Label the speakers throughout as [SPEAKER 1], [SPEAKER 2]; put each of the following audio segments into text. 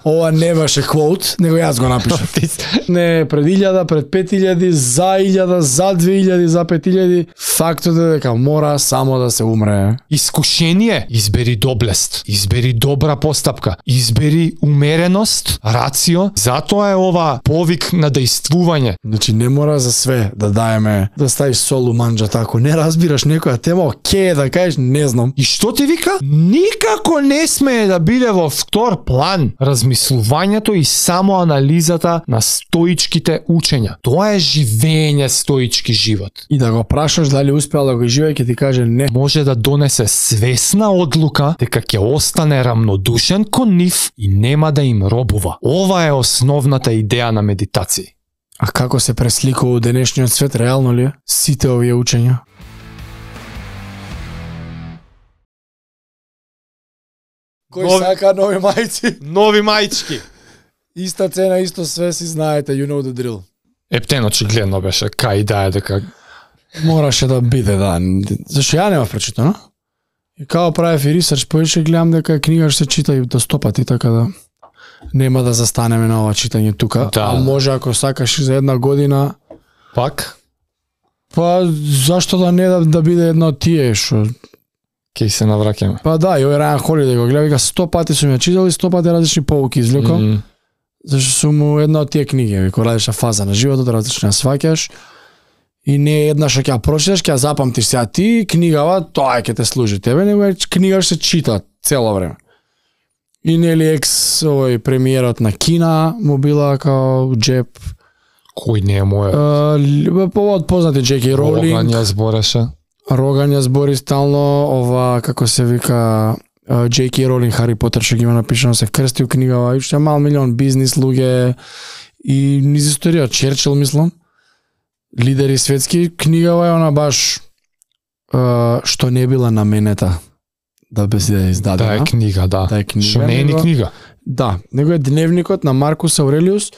[SPEAKER 1] Ова не беше квот, него јас го напишав. Не пред 1000, пред 5000, за 1000, за 2000, за 5000. Фактот е дека мора само да се умре.
[SPEAKER 2] Искушение, избери доблест, избери добра постапка, избери умереност, рацио. Затоа е ова повик на дејствување.
[SPEAKER 1] Значи не мора за све да даеме, да ставиш сол у манџата. Ако не разбираш некоја тема, окей да кажеш не знам.
[SPEAKER 2] И што ти вика? Никако не смее да биде во втор план размислувањето и само анализата на стоичките учења. Тоа е живење стоички живот.
[SPEAKER 1] И да го прашаш дали успеал да го живее, ќе ти каже не.
[SPEAKER 2] Може да донесе свесна одлука дека ќе остане рамнодушен кон нив и нема да им робува. Ова е основната идеја на медитација.
[SPEAKER 1] А како се пресликува денешниот свет, реално ли е? Сите овие учења? Кој сака нови мајци?
[SPEAKER 2] Нови мајчки.
[SPEAKER 1] Иста цена, исто све, си знаете, you know the drill.
[SPEAKER 2] Ептен очигледно беше, кај да е дека...
[SPEAKER 1] Мораше да биде, да. Зашто ја нема прочитано? И као правев и ресерч, поише гледам дека книга ще се чита и до 100 пати, така да нема да застанеме на ова читање тука.
[SPEAKER 2] Да.
[SPEAKER 1] А може ако сакаш за една година...
[SPEAKER 2] Пак?
[SPEAKER 1] Па зашто да не да биде едно од тие што...
[SPEAKER 2] Кеј се навраќаме.
[SPEAKER 1] Па да, и овој Райан Холидеј го гледа, вика 100 пати сум ја читал и 100 пати различни поуки извлекол. Зашто сум му една од тие книги, вика различна фаза на животот, различна сваќаш. И не е една што ќе ја прочиташ, ќе ја запамтиш сега ти, книгава, тоа ќе те служи тебе, него е книга што се чита цело време. И нели овој премиерот на Кина му била као джеб.
[SPEAKER 2] Кој не е мојот?
[SPEAKER 1] Повод познати Джеки Роулинг.
[SPEAKER 2] Роган ја збореше.
[SPEAKER 1] Роган ја збори стално, ова како се вика Джеки Роулинг, Хари Потер што ги има напишано, се крсти у книгава, и уште мал милион бизнис луѓе и низ историја Черчил мислам. Лидери светски, книгава е она баш што не била наменета да биде издадена.
[SPEAKER 2] Да е книга, да.
[SPEAKER 1] Да е книга.
[SPEAKER 2] Што не е ни книга.
[SPEAKER 1] Да, него е дневникот на Маркус Аурелиус,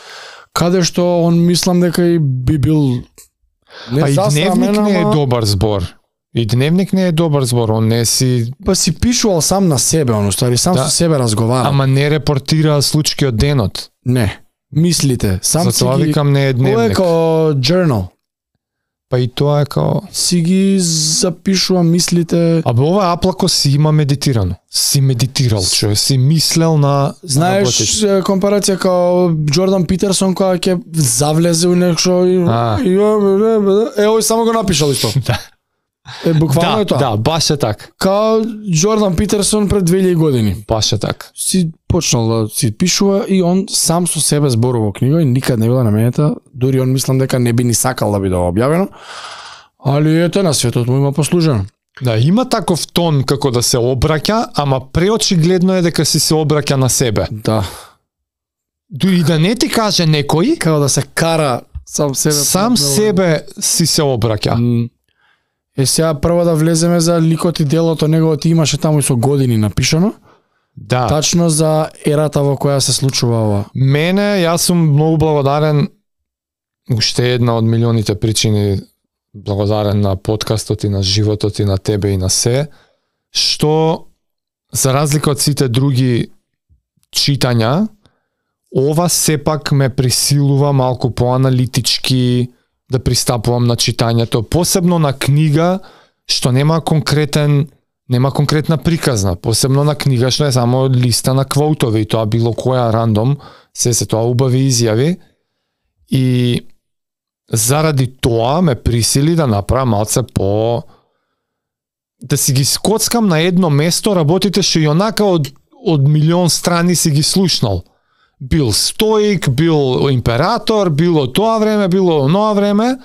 [SPEAKER 1] каде што он мислам дека и би бил не
[SPEAKER 2] а и дневник не е добар збор. И дневник не е добар збор, он не си...
[SPEAKER 1] Па си пишувал сам на себе, он устари сам со себе разговара.
[SPEAKER 2] Ама не репортира случаи од денот.
[SPEAKER 1] Не, мислите. Сам
[SPEAKER 2] затоа
[SPEAKER 1] си ги...
[SPEAKER 2] викам не е дневник.
[SPEAKER 1] Ова е као journal.
[SPEAKER 2] Па и тоа е као...
[SPEAKER 1] Си ги запишува мислите...
[SPEAKER 2] Абе ова Аплако си има медитирано. Си медитирал, човек, си мислел на...
[SPEAKER 1] Знаеш компарација као Джордан Питерсон која ќе завлезе у нешто и... овој само го напишал исто.
[SPEAKER 2] Да.
[SPEAKER 1] Буквално е тоа.
[SPEAKER 2] Да, баш е так.
[SPEAKER 1] Као Джордан Питерсон пред 2000 години.
[SPEAKER 2] Баш е так.
[SPEAKER 1] Си почнал да си пишува и он сам со себе зборува книга и никад не била наменета, дури он мислам дека не би ни сакал да биде објавено. Али ете на светот му има послужено.
[SPEAKER 2] Да, има таков тон како да се обраќа, ама преочигледно е дека си се обраќа на себе.
[SPEAKER 1] Да.
[SPEAKER 2] Дури да не ти каже некој,
[SPEAKER 1] Као да се кара сам себе.
[SPEAKER 2] сам себе си се обраќа.
[SPEAKER 1] Сега прво да влеземе за ликот и делото неговото имаше таму и со години напишано.
[SPEAKER 2] Да.
[SPEAKER 1] Тачно за ерата во која се случува ова.
[SPEAKER 2] Мене, јас сум многу благодарен, уште една од милионите причини благодарен на подкастот и на животот и на тебе и на се, што за разлика од сите други читања, ова сепак ме присилува малку поаналитички да пристапувам на читањето, посебно на книга што нема конкретна приказна, посебно на книга што е само листа на квотови, и тоа било која рандом, се тоа убави изјави, и заради тоа ме присили да направам малце по... да си ги скоцкам на едно место работите што и онака од милион страни си ги слушнал. Бил стоик, бил император, било тоа време, било оноа време,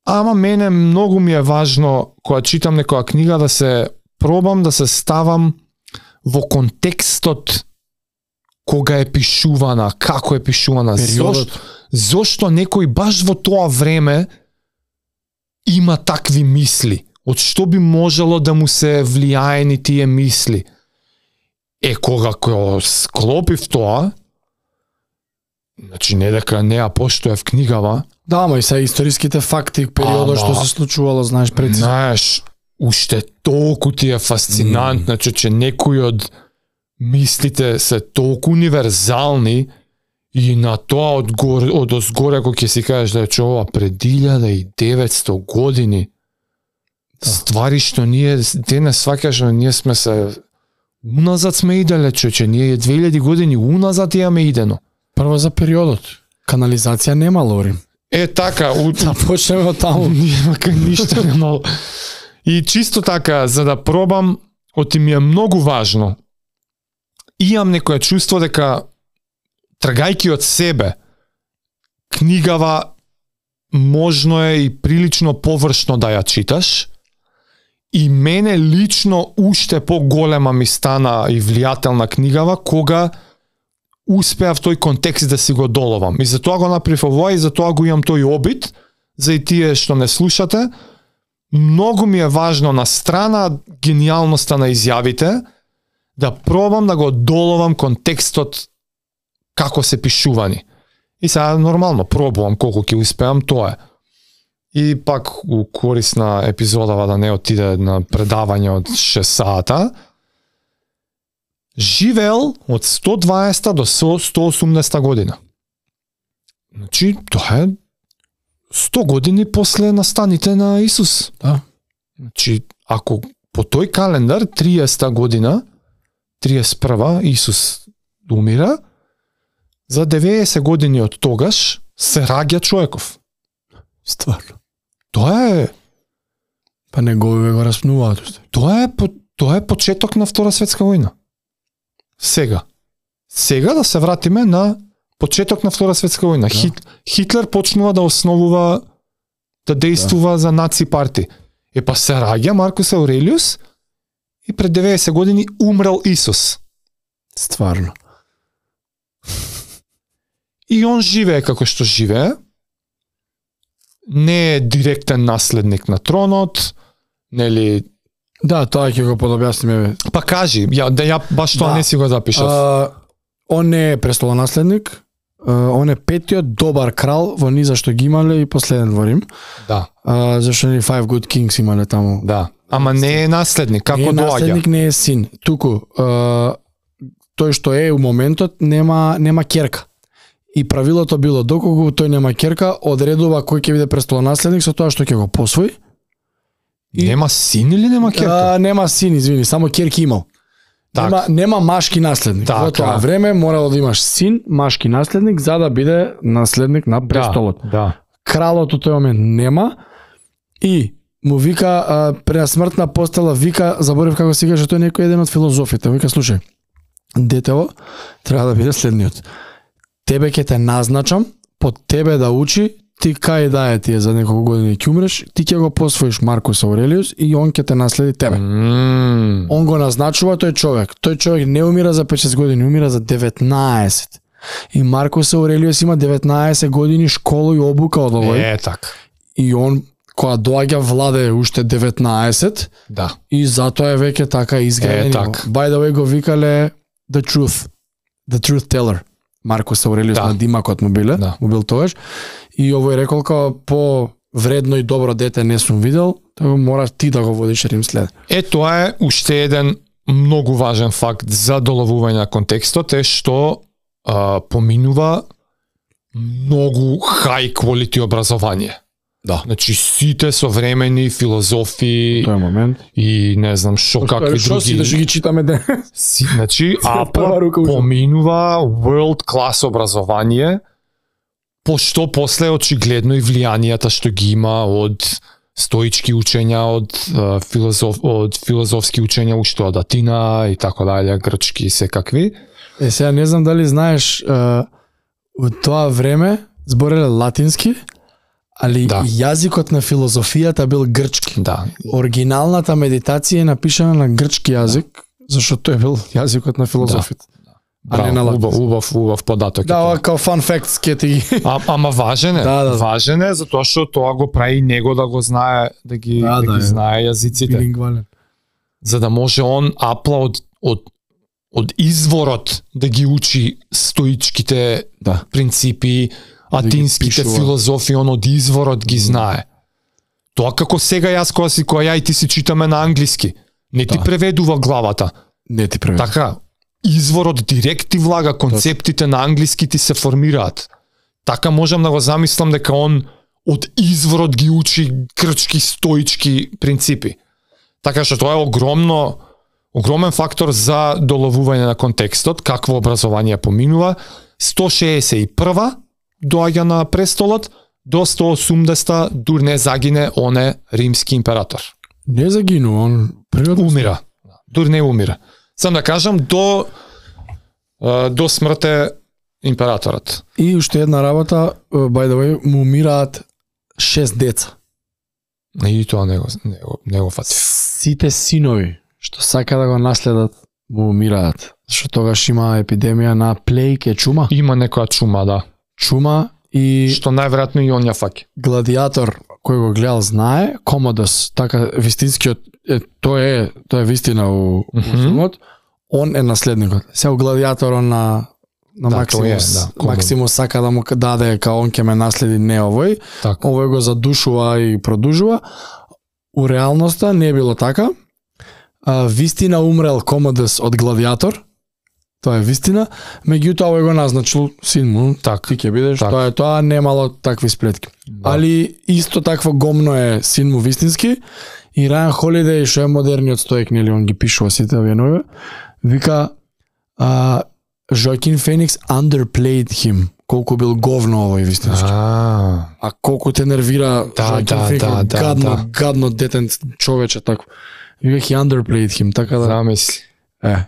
[SPEAKER 2] ама мене многу ми е важно кога читам некоја книга да се пробам да се ставам во контекстот кога е пишувана, како е пишувана, зошто некој баш во тоа време има такви мисли, од што би можело да му се влијаени тие мисли. Кога склопив тоа, значи не дека не ја поштоев книгава.
[SPEAKER 1] Да, ама и са историските факти, периодот што се случувало, знаеш прецизно.
[SPEAKER 2] Знаеш, уште толку ти е фасцинантно, че некој од мислите се толку универзални и на тоа од озгоре кога ќе си кажеш да е ова пред 1900 години ствари што ние денес сваќаш, ние сме се уназад сме иделе, човече, ние 2000 години уназад имаме идено.
[SPEAKER 1] Прво за периодот. Канализација нема, Лорим.
[SPEAKER 2] Така,
[SPEAKER 1] да почнеме од таму.
[SPEAKER 2] Нема ништо нема. И чисто така, за да пробам, оти ми е многу важно. Имам некое чувство дека тргајки од себе, книгава можно е и прилично површно да ја читаш, и мене лично уште поголема ми стана и влијателна книгава кога успеав тој контекст да си го доловам. И затоа го направив ова и затоа го имам тој обид, за и тие што не слушате. Многу ми е важно на страна гениалноста на изјавите да пробам да го доловам контекстот како се пишувани. И сега нормално пробувам колку ќе успеам, тоа е. И пак у корисна епизодава да не отиде на предавање од 6 сата, живеел од 120 до 180 година. Значи, тоа е 100 години после настаните на Исус.
[SPEAKER 1] Да.
[SPEAKER 2] Значи, ако по тој календар 30 година, 31 Исус умира, за 90 години од тогаш се раѓа човеков.
[SPEAKER 1] Стварно.
[SPEAKER 2] Тоа е...
[SPEAKER 1] Па негови го распнуваат.
[SPEAKER 2] Тоа е почеток на Втора светска војна. Сега да се вратиме на почеток на Втора светска војна. Да. Хитлер почнува да основува, да действува за наци парти. Па се раѓа Маркус Аурелиус и пред 90 години умрел Исус.
[SPEAKER 1] Стварно.
[SPEAKER 2] И он живее како што живее. Не е директен наследник на тронот, нели...
[SPEAKER 1] Да, тоа ќе го подобјасниме.
[SPEAKER 2] Па кажи, ја баш тоа не си го запишав.
[SPEAKER 1] Он не е престолонаследник, он е петиот добар крал во низа што ги имале и последен во Рим.
[SPEAKER 2] Да.
[SPEAKER 1] Зашто ни Five Good Kings имале таму.
[SPEAKER 2] Да. Ама не е наследник, како доаѓа?
[SPEAKER 1] Не е наследник, не е син. Туку, тој што е у моментот нема ќерка. И правилото било доколку тој нема ќерка, одредува кој ќе биде престолонаследник со тоа што ќе го посвои.
[SPEAKER 2] И... Нема син или нема ќерка?
[SPEAKER 1] Нема син, извини, само ќерки имал. Нема машки наследник. Во тоа време морало да имаш син, машки наследник, за да биде наследник на престолот.
[SPEAKER 2] Да.
[SPEAKER 1] Кралот од тој момент нема и му вика пред смртна постела, вика, заборев како си каже, тој некој еден од филозофите, вика слушај, детево треба да биде следниот. Тебе ќе те назначам, под тебе да учи, ти кај да е тие за неколку години ќе умреш, ти ќе го посвоиш Маркус Аурелиус и он ќе те наследи тебе. Он го назначува тој човек. Тој човек не умира за 5-6 години, умира за 19. И Маркус Аурелиус има 19 години школа и обука од овој.
[SPEAKER 2] Така.
[SPEAKER 1] И он кога доаѓа владе уште 19.
[SPEAKER 2] Да.
[SPEAKER 1] И затоа е веќе така изграден. By the way го викале The Truth Teller. Маркус Аурелиус на димакот му биле, му бил тогаш. И овој рекол како по вредно и добро дете не сум видел, тоа мора ти да го водиш Рим след.
[SPEAKER 2] Тоа е уште еден многу важен факт за доловување на контекстот, е што поминува многу high quality образование.
[SPEAKER 1] Да.
[SPEAKER 2] Значи сите современи филозофи
[SPEAKER 1] тој момент
[SPEAKER 2] и не знам што какви други.
[SPEAKER 1] Да ги читаме денес.
[SPEAKER 2] Значи поминува world class образование, пошто после очигледно и влијанијата што ги има од стоички учења, од филозофски учења уште од Атина и така дале, грчки и секакви.
[SPEAKER 1] Сега не знам дали знаеш, во тоа време збореле латински, али јазикот на филозофијата бил грчки.
[SPEAKER 2] Да.
[SPEAKER 1] Оригиналната медитација е напишана на грчки јазик, зашто тој бил јазикот на филозофите.
[SPEAKER 2] Убав податок.
[SPEAKER 1] Да, као фан фактс ке ти.
[SPEAKER 2] Ама важен е. Важен е затоа што тоа го прави него да го знае, да ги знае јазиците.
[SPEAKER 1] Билингвален.
[SPEAKER 2] За да може он апла од изворот да ги учи стоичките принципи, атинските филозофии, он од изворот ги знае. Тоа како сега јас кога ја и ти си читаме на англиски, не ти преведува главата.
[SPEAKER 1] Не ти преведува.
[SPEAKER 2] Така, изворот директ ти влага, концептите на англиски ти се формираат. Така можам да го замислам дека он од изворот ги учи грчки, стоички принципи. Така што тоа е огромен фактор за доловување на контекстот, какво образование поминува. 161 доаѓа на престолот, до 180 дур не загине оне римски император.
[SPEAKER 1] Не загинува, он природно
[SPEAKER 2] умира. Дур не умира. Сам да кажам до смрте императорот.
[SPEAKER 1] И уште една работа, by the way, му умираат 6 деца.
[SPEAKER 2] И тоа не го фати.
[SPEAKER 1] Сите синови што сака да го наследат му умираат. Што тогаш има епидемија на плејк, чума.
[SPEAKER 2] Има некоја чума, да.
[SPEAKER 1] Чума и
[SPEAKER 2] што најверојатно и он ја фаќа.
[SPEAKER 1] Гладиатор кој го гледал знае, Комодос, така вистинскиот тоа е вистина у филмот. Он е наследникот. Сега Гладиатор на Максимус, Максимус сака да му даде као он ќе ме наследи, не овој.
[SPEAKER 2] Так.
[SPEAKER 1] Овој го задушува и продужува. У реалноста не е било така. Вистина умрел Комодос од Гладиатор. Тоа е вистина. Меѓутоа овој го назначил син му.
[SPEAKER 2] Так.
[SPEAKER 1] Ти ќе бидеш.
[SPEAKER 2] Так.
[SPEAKER 1] Тоа немало такви сплетки.
[SPEAKER 2] Да.
[SPEAKER 1] Али исто такво гомно е син му вистински. И Рајан Холидеј, што е модерниот стоик, нели, он ги пишува сите овие нови, вика Жоакин Феникс underplayed him. Колку бил говно овој вистински. А колку те нервира Жоакин Феникс, гадно детен човече тако. Вика he underplayed him, така да.
[SPEAKER 2] Замисли.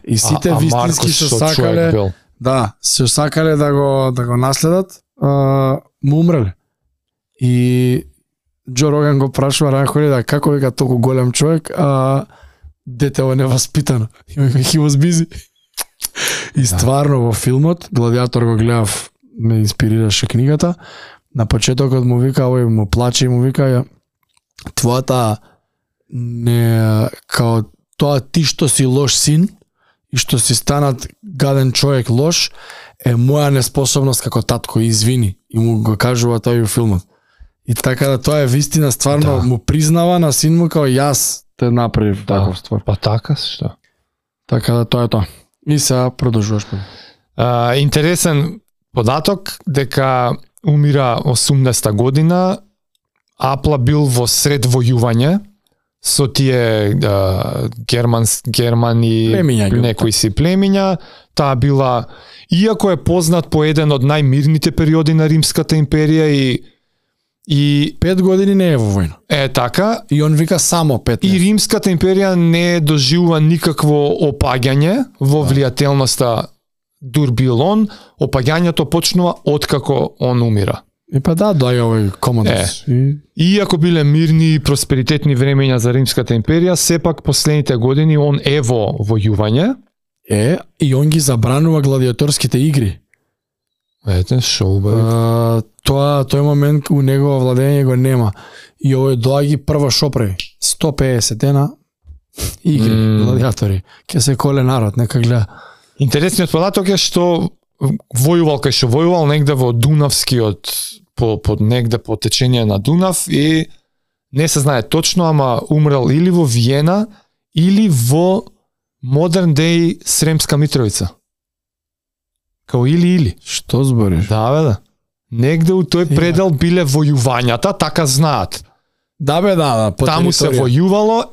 [SPEAKER 1] И сите вистински што сакале, се сакале да го наследат, му умреле. И Џо Роган го прашува Рајан Холидеј како вика толку голем човек, а детево е неваспитано. He was busy. И стварно во филмот, Гладиатор го гледав, ме инспирираше книгата, на почетокот му вика, овој му плаче и му вика, твојата не, као тоа ти што си лош син и што си станат гаден човек лош, е моја неспособност како татко, извини. И му го кажува тој у филмот. И така да тоа е вистина, стварно му признава на син му као јас те направив таков ствар.
[SPEAKER 2] Па така што?
[SPEAKER 1] Така да тоа е тоа. И сега продолжуваш.
[SPEAKER 2] Интересен податок дека умира 80-та година, Апла бил во сред војување со тие германи, некои си племиња. Таа била, иако е познат по еден од најмирните периоди на Римската империја и 5 години не е во војна. Така.
[SPEAKER 1] И он вика само 15.
[SPEAKER 2] И Римската империја не доживува никакво опаѓање во влијателноста дур бил он. Опаѓањето почнува откако он умира.
[SPEAKER 1] И па доаѓа овој Комодос.
[SPEAKER 2] Иако биле мирни и просперитетни времења за Римската империја, сепак последните години он е во војување.
[SPEAKER 1] И он ги забранува гладиаторските игри.
[SPEAKER 2] Ете, шо убави.
[SPEAKER 1] Тој момент у негово владење го нема. И овој доаѓа прво шо прави? 150 дена игри, гладиатори. Ке се коле народ, нека гледа.
[SPEAKER 2] Интересниот податок е што војувал кај што војувал негде во Дунавскиот, негде по течение на Дунав, и не се знае точно, ама умрел или во Виена, или во модерн деј Сремска Митровица. Као или.
[SPEAKER 1] Што збориш?
[SPEAKER 2] Да. Негде у тој предел биле војувањата, така знаат.
[SPEAKER 1] Да, по
[SPEAKER 2] таму се војувало,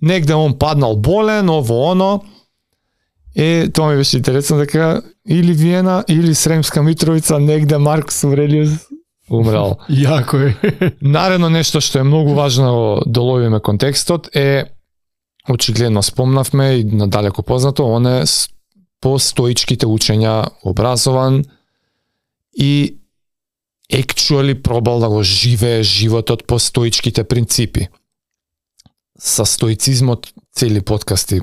[SPEAKER 2] негде он паднал болен, оно. Тоа ми беше интересно дека или Виена, или Сремска Митровица, негде Маркус Аврелиус умрел.
[SPEAKER 1] Јако е.
[SPEAKER 2] Наредно нешто што е многу важно да доловиме контекстот е, очигледно спомнавме и надалеку познато, он е по стоичките учења образован и actually пробал да го живее животот по стоичките принципи. Со стоицизмот цели подкасти,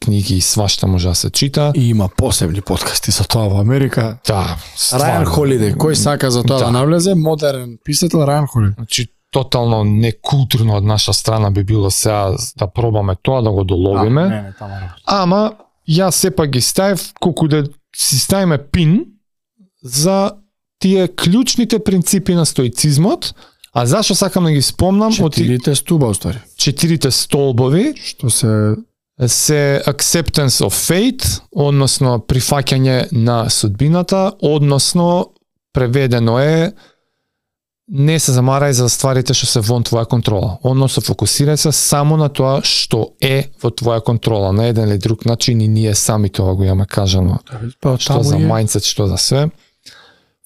[SPEAKER 2] книги и свашта може да се чита.
[SPEAKER 1] И има посебни подкасти за тоа во Америка.
[SPEAKER 2] Да,
[SPEAKER 1] Рајан Холидеј, кој сака за тоа да навлезе, модерен писател Рајан Холидеј.
[SPEAKER 2] Значи, тотално некултурно од наша страна би било сега да пробаме тоа, да го доловиме. Ама, јас сепак ги ставив, колку да си ставиме пин за тие клучните принципи на стоицизмот. А зашо сакам да ги спомнам?
[SPEAKER 1] 4 стуба, уствари.
[SPEAKER 2] 4 столбови.
[SPEAKER 1] Што се
[SPEAKER 2] се acceptance of fate, односно прифаќање на судбината, односно преведено е не се замарај за стварите што се вон твоја контрола. Односно фокусирај се само на тоа што е во твоја контрола, на еден или друг начин, и ние сами тоа го имаме кажано. Што за mindset, што за све.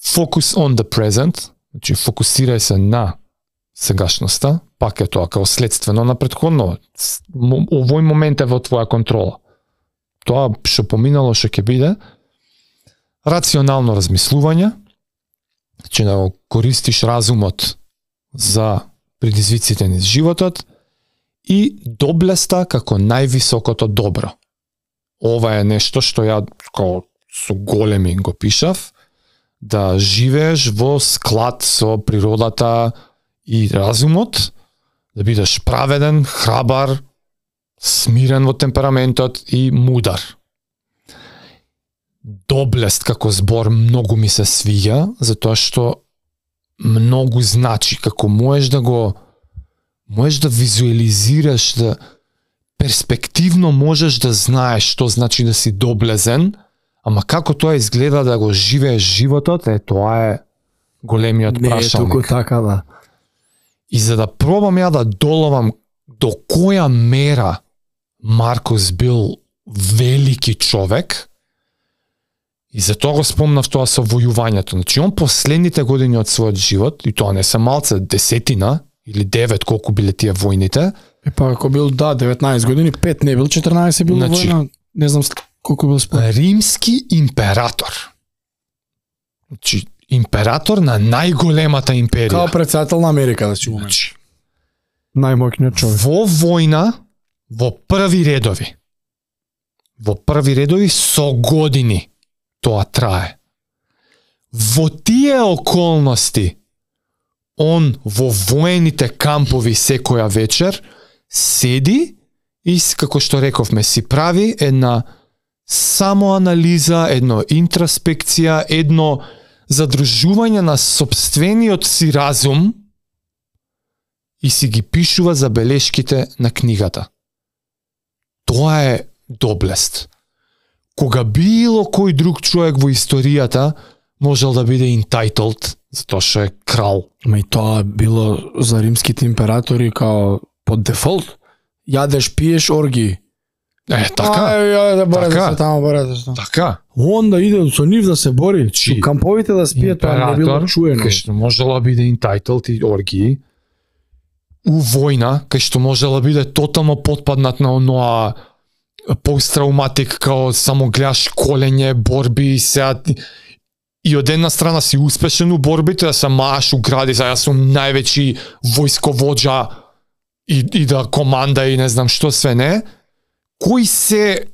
[SPEAKER 2] Focus on the present, значи фокусирај се на сегашноста, пак е тоа као следствено на претходно. Овој момент е во твоја контрола. Тоа што поминало, што ќе биде. Рационално размислување, значи да го користиш разумот за предизвиците низ животот, и доблеста како највисокото добро. Ова е нешто што ја као со големи го пишав, да живееш во склад со природата и разумот, да бидеш праведен, храбар, смирен во темпераментот и мудар. Доблест како збор многу ми се свиѓа, затоа што многу значи, како можеш да визуализираш, да перспективно можеш да знаеш што значи да си доблезен, ама како тоа изгледа да го живееш животот, тоа е големиот прашалник.
[SPEAKER 1] Не е туку така, да.
[SPEAKER 2] И за да пробам ја да доловам до која мера Маркус бил велики човек, и за тоа го спомнав тоа со војувањето. Значи, он последните години од својот живот, и тоа не се малце, 10 или 9, колку биле тие војните.
[SPEAKER 1] Па ако бил, 19 години, 5 не бил, 14 бил војна, не знам колку бил според.
[SPEAKER 2] Римски император. Значи, император на најголемата империја.
[SPEAKER 1] Као председател на Америка, да си го
[SPEAKER 2] значи,
[SPEAKER 1] најмоќниот човек.
[SPEAKER 2] Во војна, во први редови. Во први редови со години тоа трае. Во тие околности, он во воените кампови секоја вечер седи и, како што рековме, си прави една самоанализа, едно интроспекција, едно задржување на сопствениот си разум, и си ги пишува забелешките на книгата. Тоа е доблест. Кога било кој друг човек во историјата можел да биде entitled, затоа што е крал.
[SPEAKER 1] Ма и тоа било за римските императори као под дефолт. Јадеш, пиеш, орги.
[SPEAKER 2] Така. Така.
[SPEAKER 1] Он да иде со нив да се бори, со камповите да спие, тоа не било чуено.
[SPEAKER 2] Кај што можела биде entitled и орги, у војна, кај што можела биде тотално потпаднат на оноа посттрауматик, као само гледаш колење, борби и сега, и од една страна си успешен у борбите, да се мааш у гради, јас сум највеќи војсковоđа и да команда и не знам што све не. Кои се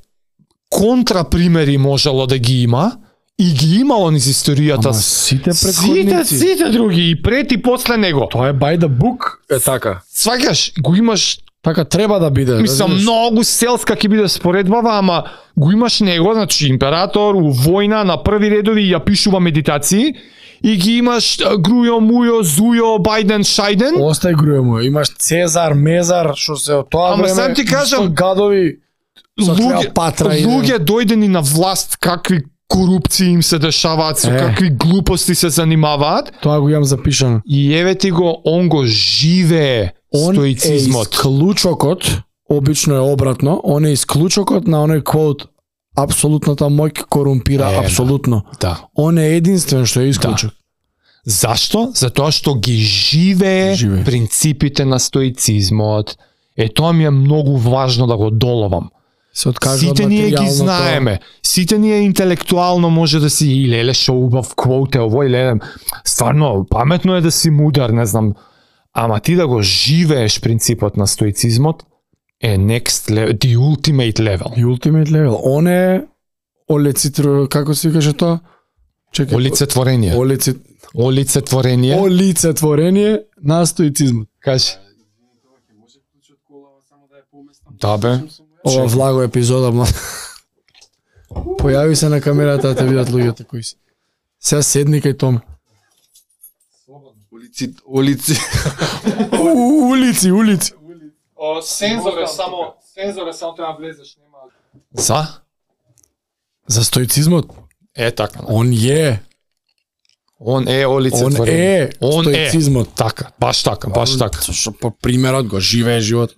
[SPEAKER 2] контрапримери можело да ги има, и ги имало низ историјата.
[SPEAKER 1] Ама сите предходници.
[SPEAKER 2] Сите други, и пред и после него.
[SPEAKER 1] Тоа е by the book, е така.
[SPEAKER 2] Сваќаш, го имаш.
[SPEAKER 1] Така треба да биде.
[SPEAKER 2] Мислам, многу селска ќе биде споредбава, ама го имаш него, значи император у војна на први редови ја пишува медитации, и ги имаш Грујо, Мујо, Зујо, Бајден, Шајден.
[SPEAKER 1] Остај Грујо, Мујо. Имаш Цезар, Мезар, што се од тоа време.
[SPEAKER 2] Ама сам ти кажам,
[SPEAKER 1] гадови,
[SPEAKER 2] луѓе дојдени на власт, какви корупции им се дешаваат, со какви глупости се занимаваат.
[SPEAKER 1] Тоа го имам запишано.
[SPEAKER 2] И еве ти го, он го живее стоицизмот.
[SPEAKER 1] Он е исклучокот, обично е обратно, он е исклучокот на оној квот, апсолутната моќ корумпира апсолутно.
[SPEAKER 2] Да.
[SPEAKER 1] Он е единствен што е исклучок.
[SPEAKER 2] Да. Зашто? Затоа што ги живее принципите на стоицизмот. Тоа ми е многу важно да го доловам. Сите ние ги знаеме. Сите ние интелектуално може да си и леле шо убав квоте, ово или стварно паметно е да си мудар, не знам. Ама ти да го живееш принципот на стоицизмот е next level, the ultimate level.
[SPEAKER 1] The ultimate level. Он е како се каже тоа?
[SPEAKER 2] Чекај. Олицетворение. Олицетворение.
[SPEAKER 1] Олицетворение на стоицизмот.
[SPEAKER 2] Кажи. Да бе.
[SPEAKER 1] Ова влаго епизода, појави се на камерата да те видат луѓето кои си. Сега седни кај Томе.
[SPEAKER 2] Улици.
[SPEAKER 1] Улици.
[SPEAKER 2] Сензор е само Сензоре само треба влезеш, нема.
[SPEAKER 1] За стоицизмот,
[SPEAKER 2] Така.
[SPEAKER 1] он е
[SPEAKER 2] олицетворение.
[SPEAKER 1] Стоицизмот.
[SPEAKER 2] Така, баш така.
[SPEAKER 1] Што по примерот го живее живот.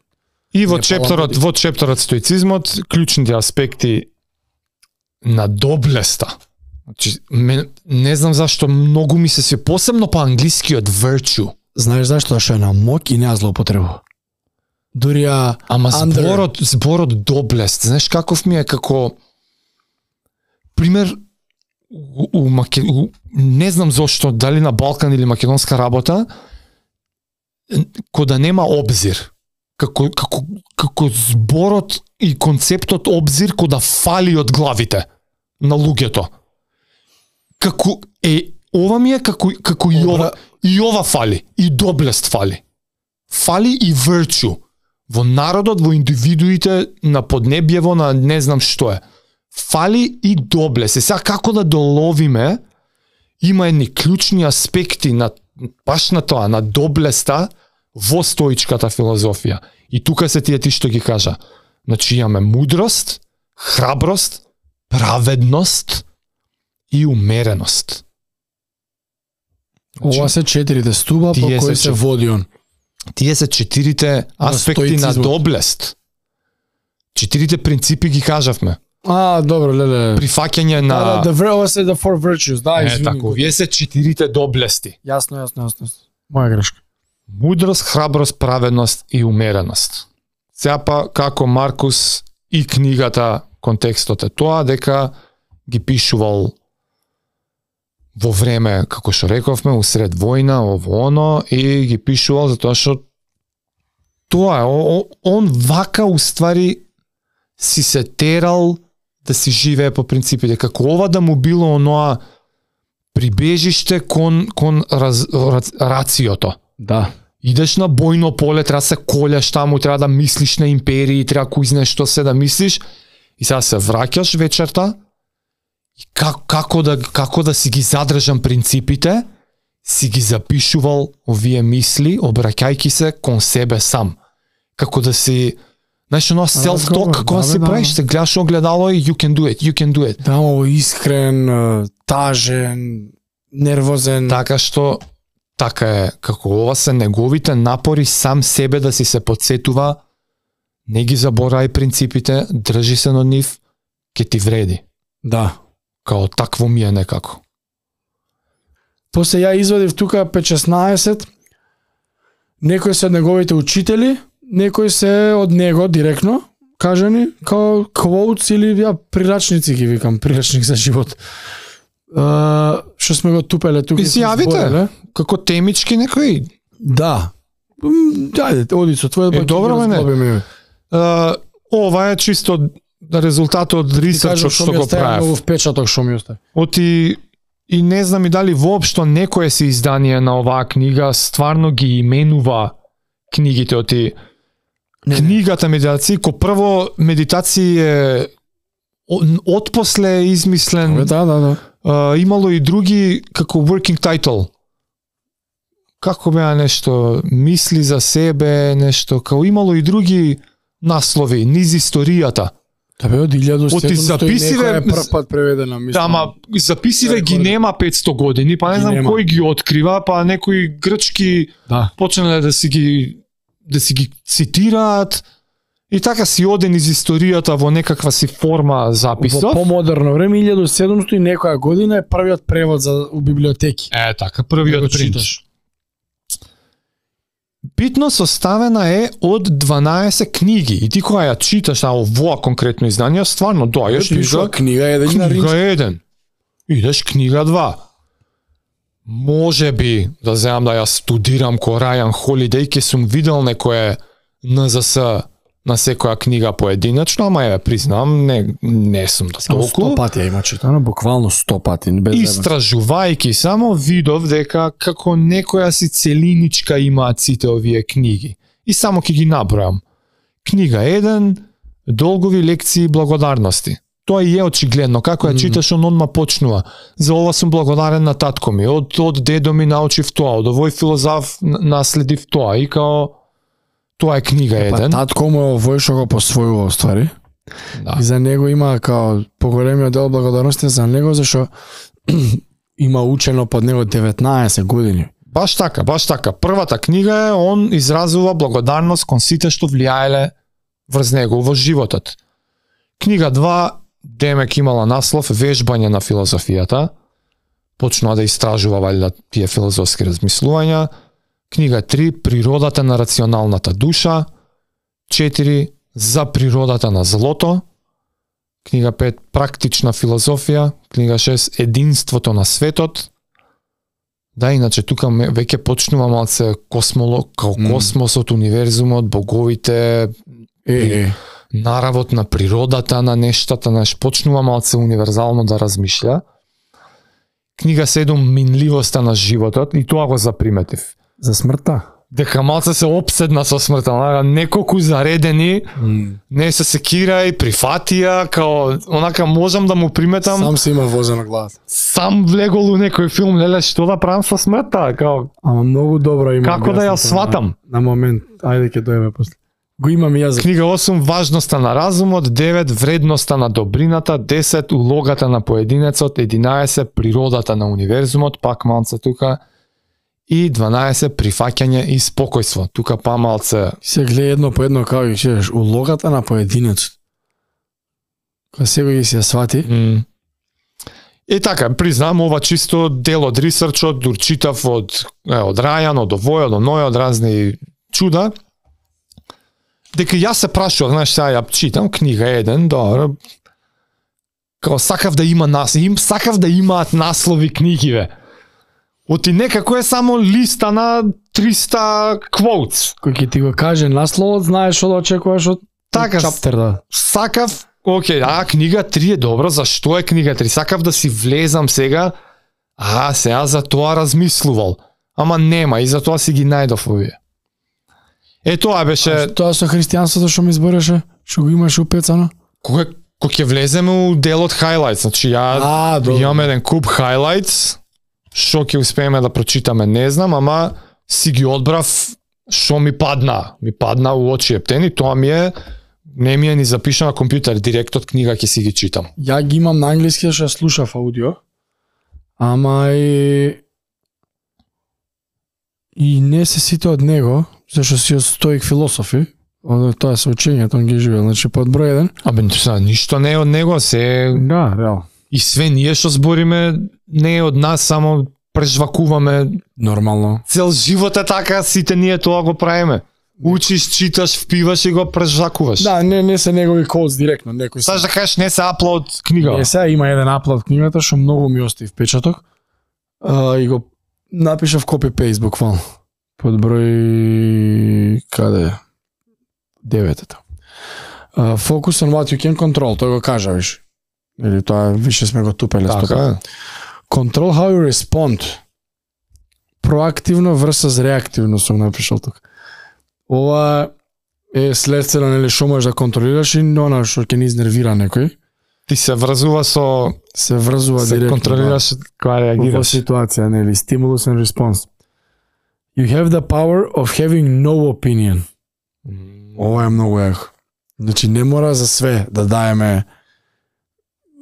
[SPEAKER 2] И во чепторот стоицизмот, клучните аспекти на доблеста. Значи, не знам зашто многу ми се посебно по англискиот virtue.
[SPEAKER 1] Знаеш зашто? Што е на моќ и не ја злоупотребува. Дури
[SPEAKER 2] Ама зборот доблест, знаеш каков ми е како пример не знам зошто, дали на Балкан или македонска работа, кога нема обзир. Како зборот и концептот обзир кога фали од главите на луѓето. Како ова ми е како и ова фали, и доблест фали. Фали и virtue. Во народот, во индивидуите, на поднебјево, на не знам што е. Фали и доблест. Сега како да доловиме, има едни клучни аспекти на баш на тоа, на доблеста во стоичката филозофија. И тука се тие ти што ги кажа. Значи имаме мудрост, храброст, праведност и умереност.
[SPEAKER 1] Ова се 4 стуба по кои се води он.
[SPEAKER 2] Тие се 4 аспекти на доблест. 4 принципи ги кажавме.
[SPEAKER 1] Добро, леле.
[SPEAKER 2] Прифаќање на
[SPEAKER 1] ова се the 4 virtues, извини.
[SPEAKER 2] Така, вие се 4 доблести.
[SPEAKER 1] Јасно. Моја грешка.
[SPEAKER 2] Мудрост, храброст, праведност и умереност. Сега па како Маркус и книгата, контекстот е тоа дека ги пишувал во време, како што рековме, усред војна, оно, и ги пишувал затоа што тоа е, он вака уствари си се терал да си живее по принципите, како ова да му било оноа прибежиште кон рациото.
[SPEAKER 1] Да.
[SPEAKER 2] Идеш на бојно поле, треба се колеш таму, треба да мислиш на империи, треба кој знае што се да мислиш, и сега се враќаш вечерта, и како да си ги задржам принципите, си ги запишувал овие мисли, обраќајки се кон себе сам. Како да си, знаеш, оно self-talk, кога си правиш, се гледаш огледало и you can do it.
[SPEAKER 1] Да, ово искрен, тажен, нервозен.
[SPEAKER 2] Така што, така е, како ова се неговите напори сам себе да си се подсетува, не ги заборај принципите, држи се на нив, ќе ти вреди.
[SPEAKER 1] Да.
[SPEAKER 2] Као такво ми е некако.
[SPEAKER 1] После ја извадив тука 5-16, некои се од неговите учители, некои се од него директно, кажани, као quotes или прирачници ги викам, прирачник за живот. Што сме го тупеле тука.
[SPEAKER 2] И си јавите, како темички некои.
[SPEAKER 1] Да. Ајде, оди со твојот бак.
[SPEAKER 2] Добро, не. Ова е чисто резултат од ресерчот што го правев.
[SPEAKER 1] Многу впечаток што ми остави.
[SPEAKER 2] И не знам и дали воопшто некое се издание на оваа книга стварно ги именува книгите оти. Книгата медитација, ко прво медитација е отпосле измислен.
[SPEAKER 1] Да.
[SPEAKER 2] Имало и други како working title. Како беа нешто, мисли за себе, нешто, како имало и други наслови, низ историјата.
[SPEAKER 1] Да бе, од 1700
[SPEAKER 2] записиве,
[SPEAKER 1] прв пат преведена, мислам.
[SPEAKER 2] Ама записиве ги нема 500 години, па не знам кој ги открива, па некои грчки почнале да си ги цитираат и така си оден из историјата во некаква си форма записов.
[SPEAKER 1] Во помодерно време, 1700 и некоја година е првиот превод у библиотеки.
[SPEAKER 2] Така, првиот принч. Битно составена е од 12 книги и ти кога ја читаш овоа конкретно издание, стварно доаѓаш и
[SPEAKER 1] пишува книга 1.
[SPEAKER 2] Идеш книга 2. Може би да земам да ја студирам ко Рајан Холидеј, ке сум видел некое НЗС на секоја книга поединечно, ама ја признам, не сум да толку.
[SPEAKER 1] 100 пати ја има читано, буквално 100 пати.
[SPEAKER 2] Истражувајки само видов дека како некоја си целиничка имаат сите овие книги. И само ќе ги набројам. Книга 1, долгови лекции благодарности. Тоа и е очигледно, како ја читаш, он одма почнува. За ова сум благодарен на татко ми, од дедо ми научив тоа, од овој филозоф наследив тоа, и као Тоа е книга еден.
[SPEAKER 1] Татко му е овој што го посвојува ствари.
[SPEAKER 2] Да.
[SPEAKER 1] И за него има као поголемиот дел благодарности за него зашто има учено под него 19 години.
[SPEAKER 2] Баш така. Првата книга е он изразува благодарност кон сите што влијаеле врз него во животот. Книга 2 демек имала наслов Вежбање на филозофијата. Почнува да истражува валјда тие филозофски размислувања. Книга 3 Природата на рационалната душа. 4 За природата на злото. Книга 5 Практична филозофија. Книга 6 Единството на светот. Да, иначе тука веќе почнува малце космосот, универзумот, боговите, наравот на природата, на нештата, почнува малце универзално да размишља. Книга 7 Минливоста на животот, и тоа го заприметив.
[SPEAKER 1] За смртта?
[SPEAKER 2] Дека малце се опседна со смртта, неколку заредени, не се секира и прифатија, као онака можам да му приметам.
[SPEAKER 1] Сам се има возена глава.
[SPEAKER 2] Сам влегол у некој филм, леле, што да правам со смртта, као.
[SPEAKER 1] Ама многу добро има.
[SPEAKER 2] Како да ја сватам?
[SPEAKER 1] На момент, ајде ќе дојме после. Го имам и јас.
[SPEAKER 2] Книга 8 Важноста на разумот, 9 Вредноста на добрината, 10 Улогата на поединецот, 11 Природата на универзумот, пак малце тука, и 12 Прифаќање и спокојство. Тука па малце.
[SPEAKER 1] Се гледа едно по едно како ги читаш, улогата на поединецот. Кога секој ги се свати.
[SPEAKER 2] И така, признам, ова чисто дел од ресерчот, дур читав од Рајан, од овој, од оној, од разни чуда. Дека јас се прашував, знаеш, сега ја читам книга 1, добро. Као сакав да има сакав да имаат наслови книгиве. Оти некако е само листа на 300 quotes.
[SPEAKER 1] Кој ќе ти го каже насловот, знаеш што да очекуваш од
[SPEAKER 2] така,
[SPEAKER 1] чаптер, да.
[SPEAKER 2] Сакав, книга 3 е добро, зашто е книга 3? Сакав да си влезам сега, сега за тоа размислувал. Ама нема, и за тоа си ги најдов овие. Тоа беше...
[SPEAKER 1] Тоа со христијанството што ми избореше, што го имаше упецано?
[SPEAKER 2] Кога ќе влеземе у делот highlights, значи ја имам еден куп highlights, што ќе успееме да прочитаме, не знам, ама си ги одбрав што ми падна. Ми падна у очи ептени, тоа ми е, не ми е ни запишано на компјутер, директ од книга ќе си ги читам.
[SPEAKER 1] Ја ги имам на англиски, што слушав аудио, ама и не се сите од него, зашто си стоик философи, тоа е соучењето, он ги живее, значи под број 1.
[SPEAKER 2] Ништо не е од него, се...
[SPEAKER 1] Да, реално.
[SPEAKER 2] И све ние што збориме не е од нас, само прежвакуваме.
[SPEAKER 1] Нормално.
[SPEAKER 2] Цел живот е така, сите ние тоа го правиме. Учиш, читаш, впиваш и го прежвакуваш.
[SPEAKER 1] Да, не се негови коуц директно, некој.
[SPEAKER 2] Саш да кажеш не се аплод книга.
[SPEAKER 1] Не се, има еден аплод книгата што многу ми остави впечаток. И го напишав копи-пейст буквално. Под број каде? 9-та. Focus on what you can control, тој го кажа виш. Или тоа више сме го тупеле
[SPEAKER 2] така.
[SPEAKER 1] Стопа. Control how you respond. Проактивно versus реактивно сум напишал тука. Ова е следствено, нели, што можеш да контролираш и она што ќе ни изнервира некој.
[SPEAKER 2] Ти се врзува
[SPEAKER 1] директно.
[SPEAKER 2] Се контролираш кога реагираш.
[SPEAKER 1] Во ситуација, нели, stimulus and response. You have the power of having no opinion. Ова е многу јако. Значи не мора за све да даеме,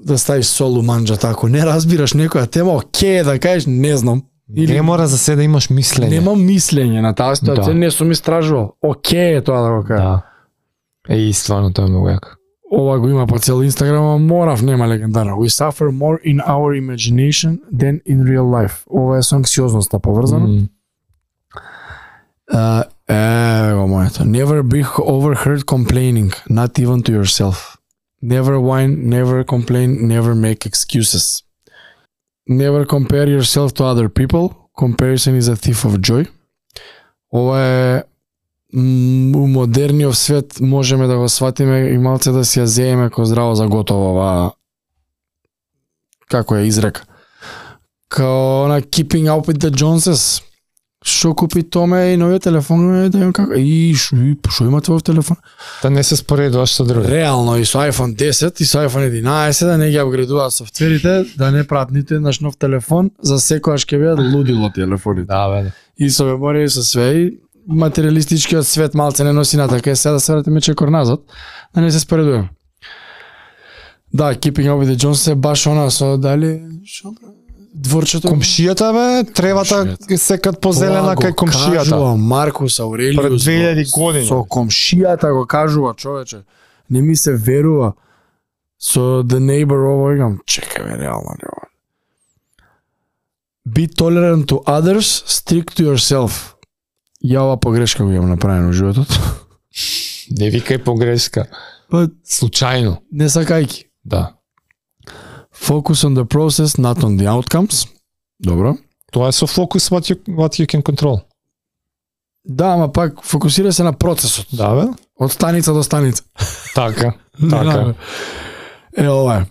[SPEAKER 1] да ставиш сол у манџа тако. Не разбираш некоја тема, окей, да кажеш не знам.
[SPEAKER 2] Или не мора за се да имаш мислење.
[SPEAKER 1] Немам мислење на таа ситуација, не сум истражувал. Окей, тоа да го кажам.
[SPEAKER 2] Да. Стварно тоа е многу јако.
[SPEAKER 1] Ова го има по цел Инстаграм, морав, нема легендарно. We suffer more in our imagination than in real life. Ова е со анксиозноста поврзано. Го моето. Never be overheard complaining, not even to yourself. Never whine, never complain, never make excuses. Never compare yourself to other people. Comparison is a thief of joy. Ова е у модерниот свет можеме да го сватиме и малце да си ја зееме ко здраво за готово ова, како е изрека. Као на Keeping Up with the Joneses. Што купи Томе и новиот телефон, да имам како, што има твој телефон?
[SPEAKER 2] Да не се споредуваш со други.
[SPEAKER 1] Реално и со iPhone 10 и со iPhone 11 да не ги апгрейдуваат софтверите, да не прават ниту еднаш нов телефон, за секојаш ќе бидат лудило телефоните.
[SPEAKER 2] Да, бе.
[SPEAKER 1] И со меморија и со све, материалистичкиот свет малце не носи натака, сега да се вратиме чекор назад, да не се споредуваме. Да, Keeping Up with the Joneses е баш она со дали дворчето.
[SPEAKER 2] Комшијата бе, тревата секад позелена кај комшијата.
[SPEAKER 1] Кажува Маркус Аурелиус.
[SPEAKER 2] Пред 2000 години.
[SPEAKER 1] Со комшијата го кажува, човече. Не ми се верува. Со The Neighbor ово игам, чекај бе, реално. Be tolerant to others, strict to yourself. Ја ова погрешка го имам направено во животот.
[SPEAKER 2] Не викај погрешка.
[SPEAKER 1] Па,
[SPEAKER 2] случајно.
[SPEAKER 1] не сакајки.
[SPEAKER 2] Да.
[SPEAKER 1] Focus on the process, not on the outcomes. Добро.
[SPEAKER 2] Тоа е со фокус what you can control.
[SPEAKER 1] Да, ама пак фокусира се на процесот.
[SPEAKER 2] Да, бе.
[SPEAKER 1] Од станица до станица.
[SPEAKER 2] Така, така.
[SPEAKER 1] Е, ова е.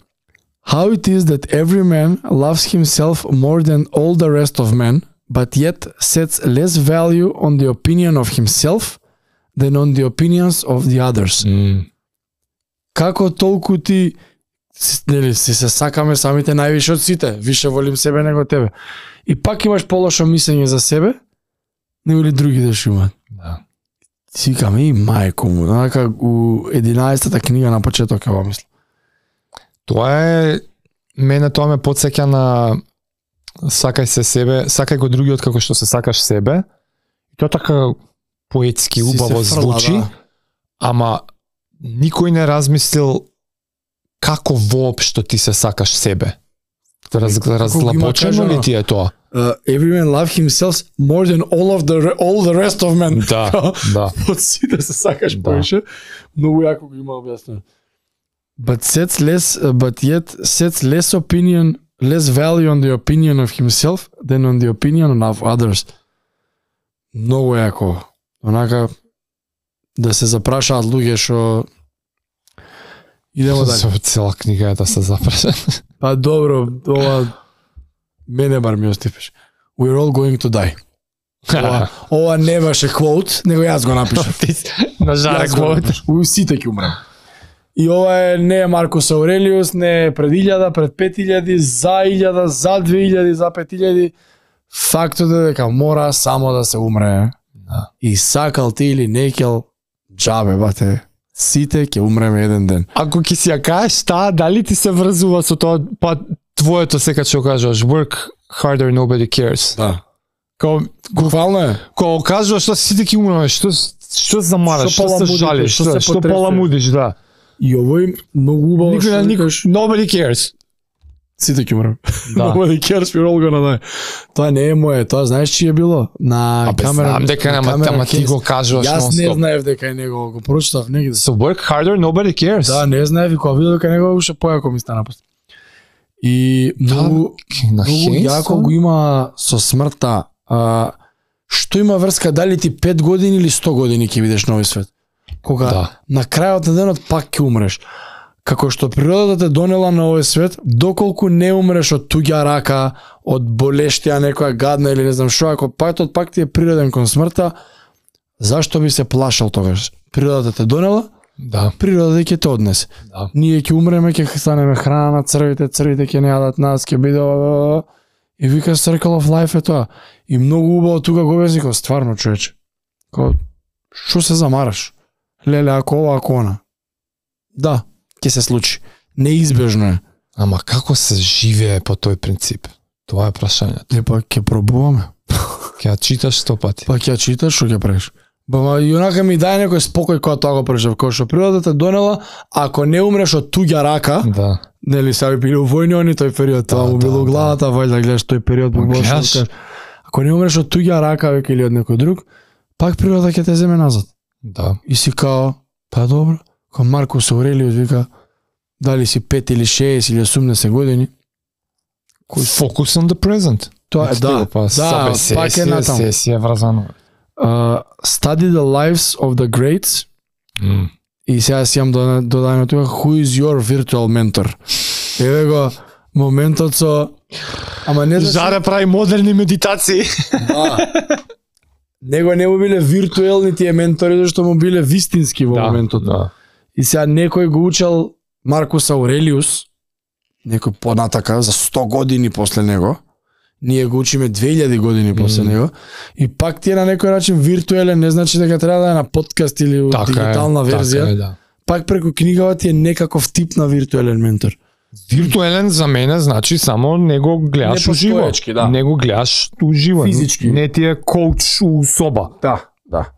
[SPEAKER 1] How it is that every man loves himself more than all the rest of men, but yet sets less value on the opinion of himself than on the opinions of the others. Како толку ти нели си се сакаме самите највише од сите, више волим себе него тебе. И пак имаш полошо мислење за себе, него ли други да шумат.
[SPEAKER 2] Да.
[SPEAKER 1] Си каме и мајко му, онака у 11-та книга на почеток ова мисла.
[SPEAKER 2] Тоа е, мене тоа ме потсеќа на сакај се себе, сакај го другиот како што се сакаш себе. И тоа така поетски убаво звучи, да. Ама никој не размислил како воопшто ти се сакаш себе. Разлабочено ли ти е тоа?
[SPEAKER 1] Every man love himself more than all the rest of men.
[SPEAKER 2] Да, да.
[SPEAKER 1] Од сите се сакаш повеќе. Многу јако го има објаснено. But yet sets less value on the opinion of himself than on the opinion of others. Многу јако. Онака да се запрашаат луѓе што идемо дали.
[SPEAKER 2] Со цела книга е да се запраша.
[SPEAKER 1] Па добро, ова мене бар ми остипеш. We're all going to die. Ова не беше quote, него јас го напишав.
[SPEAKER 2] На жаре quote.
[SPEAKER 1] Сите ќе умрем. И ова е не е Маркус Аурелиус, не е пред 1000, пред 5000, за 1000, за 2000, за 5000. Фактот е дека мора само да се умре.
[SPEAKER 2] Да.
[SPEAKER 1] И сакал ти или некел, джабе бате. Сите ќе умреме еден ден.
[SPEAKER 2] Ако ќе си ја кажеш таа, дали ти се врзува со тоа, па твоето секад што кажуваш, work harder, nobody cares.
[SPEAKER 1] Да.
[SPEAKER 2] Као,
[SPEAKER 1] буквално е.
[SPEAKER 2] Као кажуваш што сите ќе умреме, што замараш, што се жалиш, што поламудиш, да.
[SPEAKER 1] И овој многу убаво
[SPEAKER 2] што nobody cares.
[SPEAKER 1] Сите ќе умреме.
[SPEAKER 2] Да.
[SPEAKER 1] Nobody cares, we're all gonna die. Тоа не е моје, тоа знаеш чие е било? На камера.
[SPEAKER 2] Знам дека ама ти го кажуваш нон-стоп.
[SPEAKER 1] Јас не знаев дека е него, го прочитав негде.
[SPEAKER 2] So work harder, nobody cares.
[SPEAKER 1] Да, не знаев и кога видов дека него уште појако ми стана после. И многу јако го има со смртта. Што има врска, дали ти 5 години или 100 години ќе видиш на овој свет? Кога на крајот на денот пак ќе умреш. Како што природата те донела на овој свет, доколку не умреш од туѓа рака, од болештија некоја гадна или не знам што, ако патот пак ти е природен кон смртта, зашто би се плашал тогаш? Природата те донела,
[SPEAKER 2] да.
[SPEAKER 1] Природата ќе те однесе.
[SPEAKER 2] Да.
[SPEAKER 1] Ние ќе умреме, ќе станеме храна на црвите ќе не јадат нас, ќе биде и вика Circle of Life е тоа. И многу убаво тука го објасни, стварно човече. Што се замараш? Леле, ако ова, ако она. Да, ќе се случи. Неизбежно е.
[SPEAKER 2] Ама како се живее по тој принцип? Тоа е прашањето.
[SPEAKER 1] Па ќе пробуваме.
[SPEAKER 2] Ќе ја читаш 100 пати.
[SPEAKER 1] Па ќе ја читаш, што ќе правиш? Ба и онака ми дај некој спокој кога тоа го преживев, кога што природата донела, ако не умреш од туѓа рака,
[SPEAKER 2] да.
[SPEAKER 1] Нели са били у војни они тој период, тоа му било главата, вајда гледаш тој период му беше. Ако не умреш од туѓа рака веќе или од некој друг, пак природата ќе те земе назад.
[SPEAKER 2] Да.
[SPEAKER 1] И си као, па добро, кога Маркус Аурелиус вика, дали си 5 или 6 или 80 години,
[SPEAKER 2] focus on the present.
[SPEAKER 1] Тоа е, да, пак е натаму.
[SPEAKER 2] Сесија вразано.
[SPEAKER 1] Study the lives of the greats. И сега си имам додадено тука, who is your virtual mentor? Еве го моментот со... Ама не
[SPEAKER 2] Жаре прави модерни медитации.
[SPEAKER 1] Да. Него не му биле виртуелни тие ментори, зашто му биле вистински во моментот.
[SPEAKER 2] Да.
[SPEAKER 1] И сега некој го учел Маркус Аурелиус, некој понатака за 100 години после него, Ние го учиме 2000 години после него и пак ти е на некој начин виртуелен, не значи дека треба да е на подкаст или дигитална верзија.
[SPEAKER 2] Така е, да.
[SPEAKER 1] Пак преку книгава ти е некаков тип на виртуелен ментор.
[SPEAKER 2] Виртуелен за мене значи само не го гледаш уживо.
[SPEAKER 1] Да.
[SPEAKER 2] Не го гледаш уживо.
[SPEAKER 1] Физички.
[SPEAKER 2] Не ти е коуч у соба.
[SPEAKER 1] Да.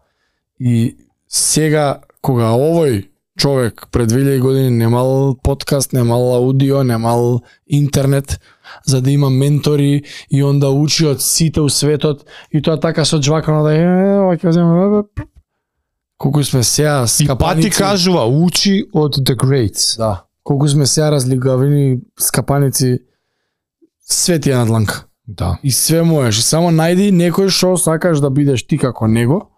[SPEAKER 1] И сега кога овој човек пред 2000 години немал подкаст, немал аудио, немал интернет, за да има ментори и онда учи од сите у светот и тоа така со джвакано да ќе земе колку сме сега скапаници.
[SPEAKER 2] И пати кажува учи од the greats.
[SPEAKER 1] Да. Колку сме сега разлигавени скапаници, свет е надланка.
[SPEAKER 2] Да.
[SPEAKER 1] И све можеш, и само најди некој што сакаш да бидеш ти како него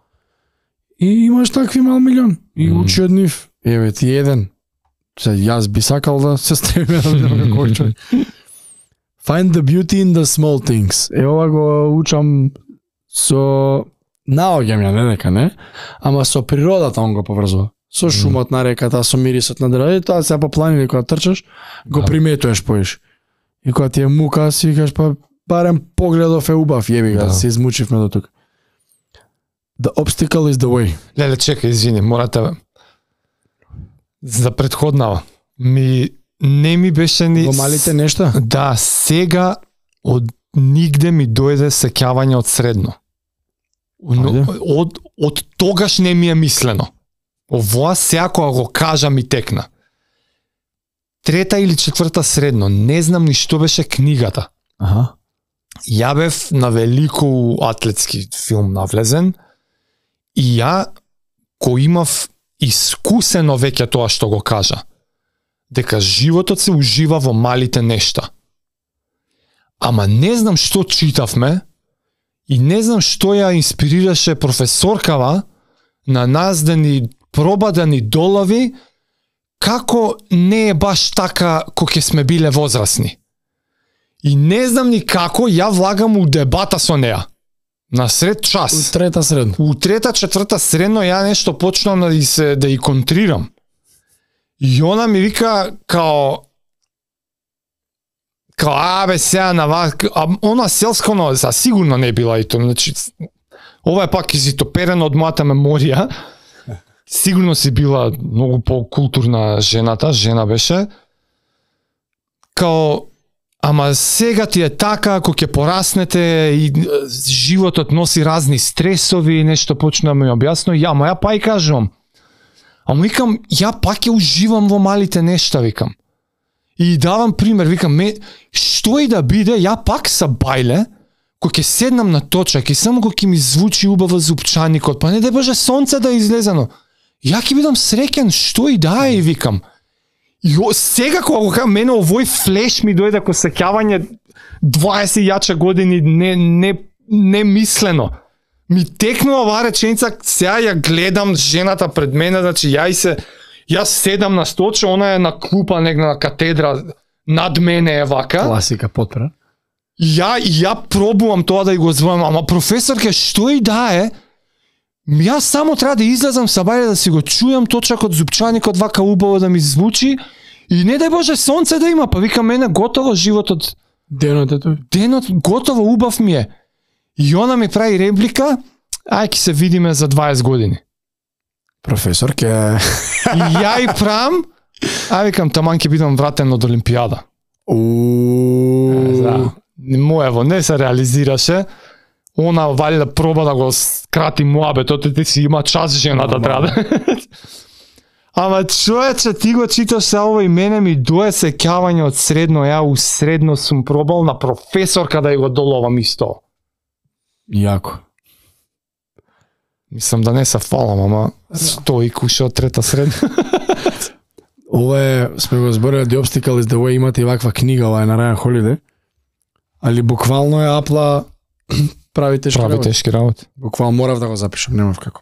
[SPEAKER 1] и имаш такви мал милион и учи од нив. Еве ти еден. Се јас би сакал да се стремам да бидам како човек. Find the beauty in the small things. Ова го учам со наоѓам ја, не дека не, ама со природата он го поврзува. Со шумот на реката, со мирисот на дрвето, тоа се по планини кога трчаш, го приметуваш поиш. И кога ти е мука, си викаш па барем погледов е убав, јеби го, се измучивме до тука. The obstacle is the way.
[SPEAKER 2] Леле, чекај, извини, морате за предходнава. Не ми беше ни...
[SPEAKER 1] Во малите нешта?
[SPEAKER 2] Да, сега од нигде ми дојде сеќавање од средно. Од тогаш не ми е мислено. Овоа сега кога го кажа ми текна. 3 или 4 средно, не знам ни што беше книгата.
[SPEAKER 1] Аха.
[SPEAKER 2] Ја бев на велико атлетски филм навлезен и ја го имав искусено веќе тоа што го кажа. Дека животот се ужива во малите нешта. Ама не знам што читавме и не знам што ја инспирираше професоркава на нас да ни проба да ни долови како не е баш така кога ќе сме биле возрастни. И не знам ни како ја влагам у дебата со неа. На сред час.
[SPEAKER 1] У 3 средно.
[SPEAKER 2] У 3-4 средно ја нешто почнам да и контрирам. И она ми вика као абе сега на вас, она селсконо за сигурно не била и тоа, значи ова е пак изитоперено од мојата меморија. Сигурно си била многу по-културна жена беше. Као ама сега ти е така, ако ќе пораснете и животот носи разни стресови и нешто почна ми објасно, ја па и кажувам. Ама викам, ја пак ќе уживам во малите нешта, викам. И давам пример, викам, што и да биде, ја пак са бајле, кој ќе седнам на точак и само кој ќе ми звучи убаво зупчаникот, па не да боже сонце да излезено. Ја ќе бидам среќен, што и да е, викам. И сега кога го кажам, мене овој флеш ми дојде ко сеќавање 20 јача години не мислено. Ми текнува оваа реченица, сега ја гледам жената пред мене, значи јас седам на столче, она е на клупа негде на катедра, над мене е вака.
[SPEAKER 1] Класика потпра.
[SPEAKER 2] Ја пробувам тоа да го звонам, ама професорке, што и да е, јас само треба да излезам са бајле да си го чујам точакот зупчаникот вака убаво да ми звучи и не дај Боже сонце да има, па вика мене готово животот. Денот готово убав ми е. И она ми прави реплика, ај ќе се видиме за 20 години.
[SPEAKER 1] Професорке.
[SPEAKER 2] И ја и прам, викам таман ќе бидам вратен од Олимпијада. Да. Моево не се реализираше. Она валја проба да го скрати муабетот, ти си има час жената треба. Ама човече, ти го читаш се ова и мене ми дое сеќавање од средно, ја у средно сум пробал на професорка да ја го доловам исто.
[SPEAKER 1] Јако.
[SPEAKER 2] Мислам да не се фалам, ама стои куша од 3 средно.
[SPEAKER 1] Ова е, сме го зборили, The Obstacle is the Way, имате и ваква книга, ова е на Райан Холидей. Али буквално е апла прави тешки работи. Буквално морав да го запишам, немав како.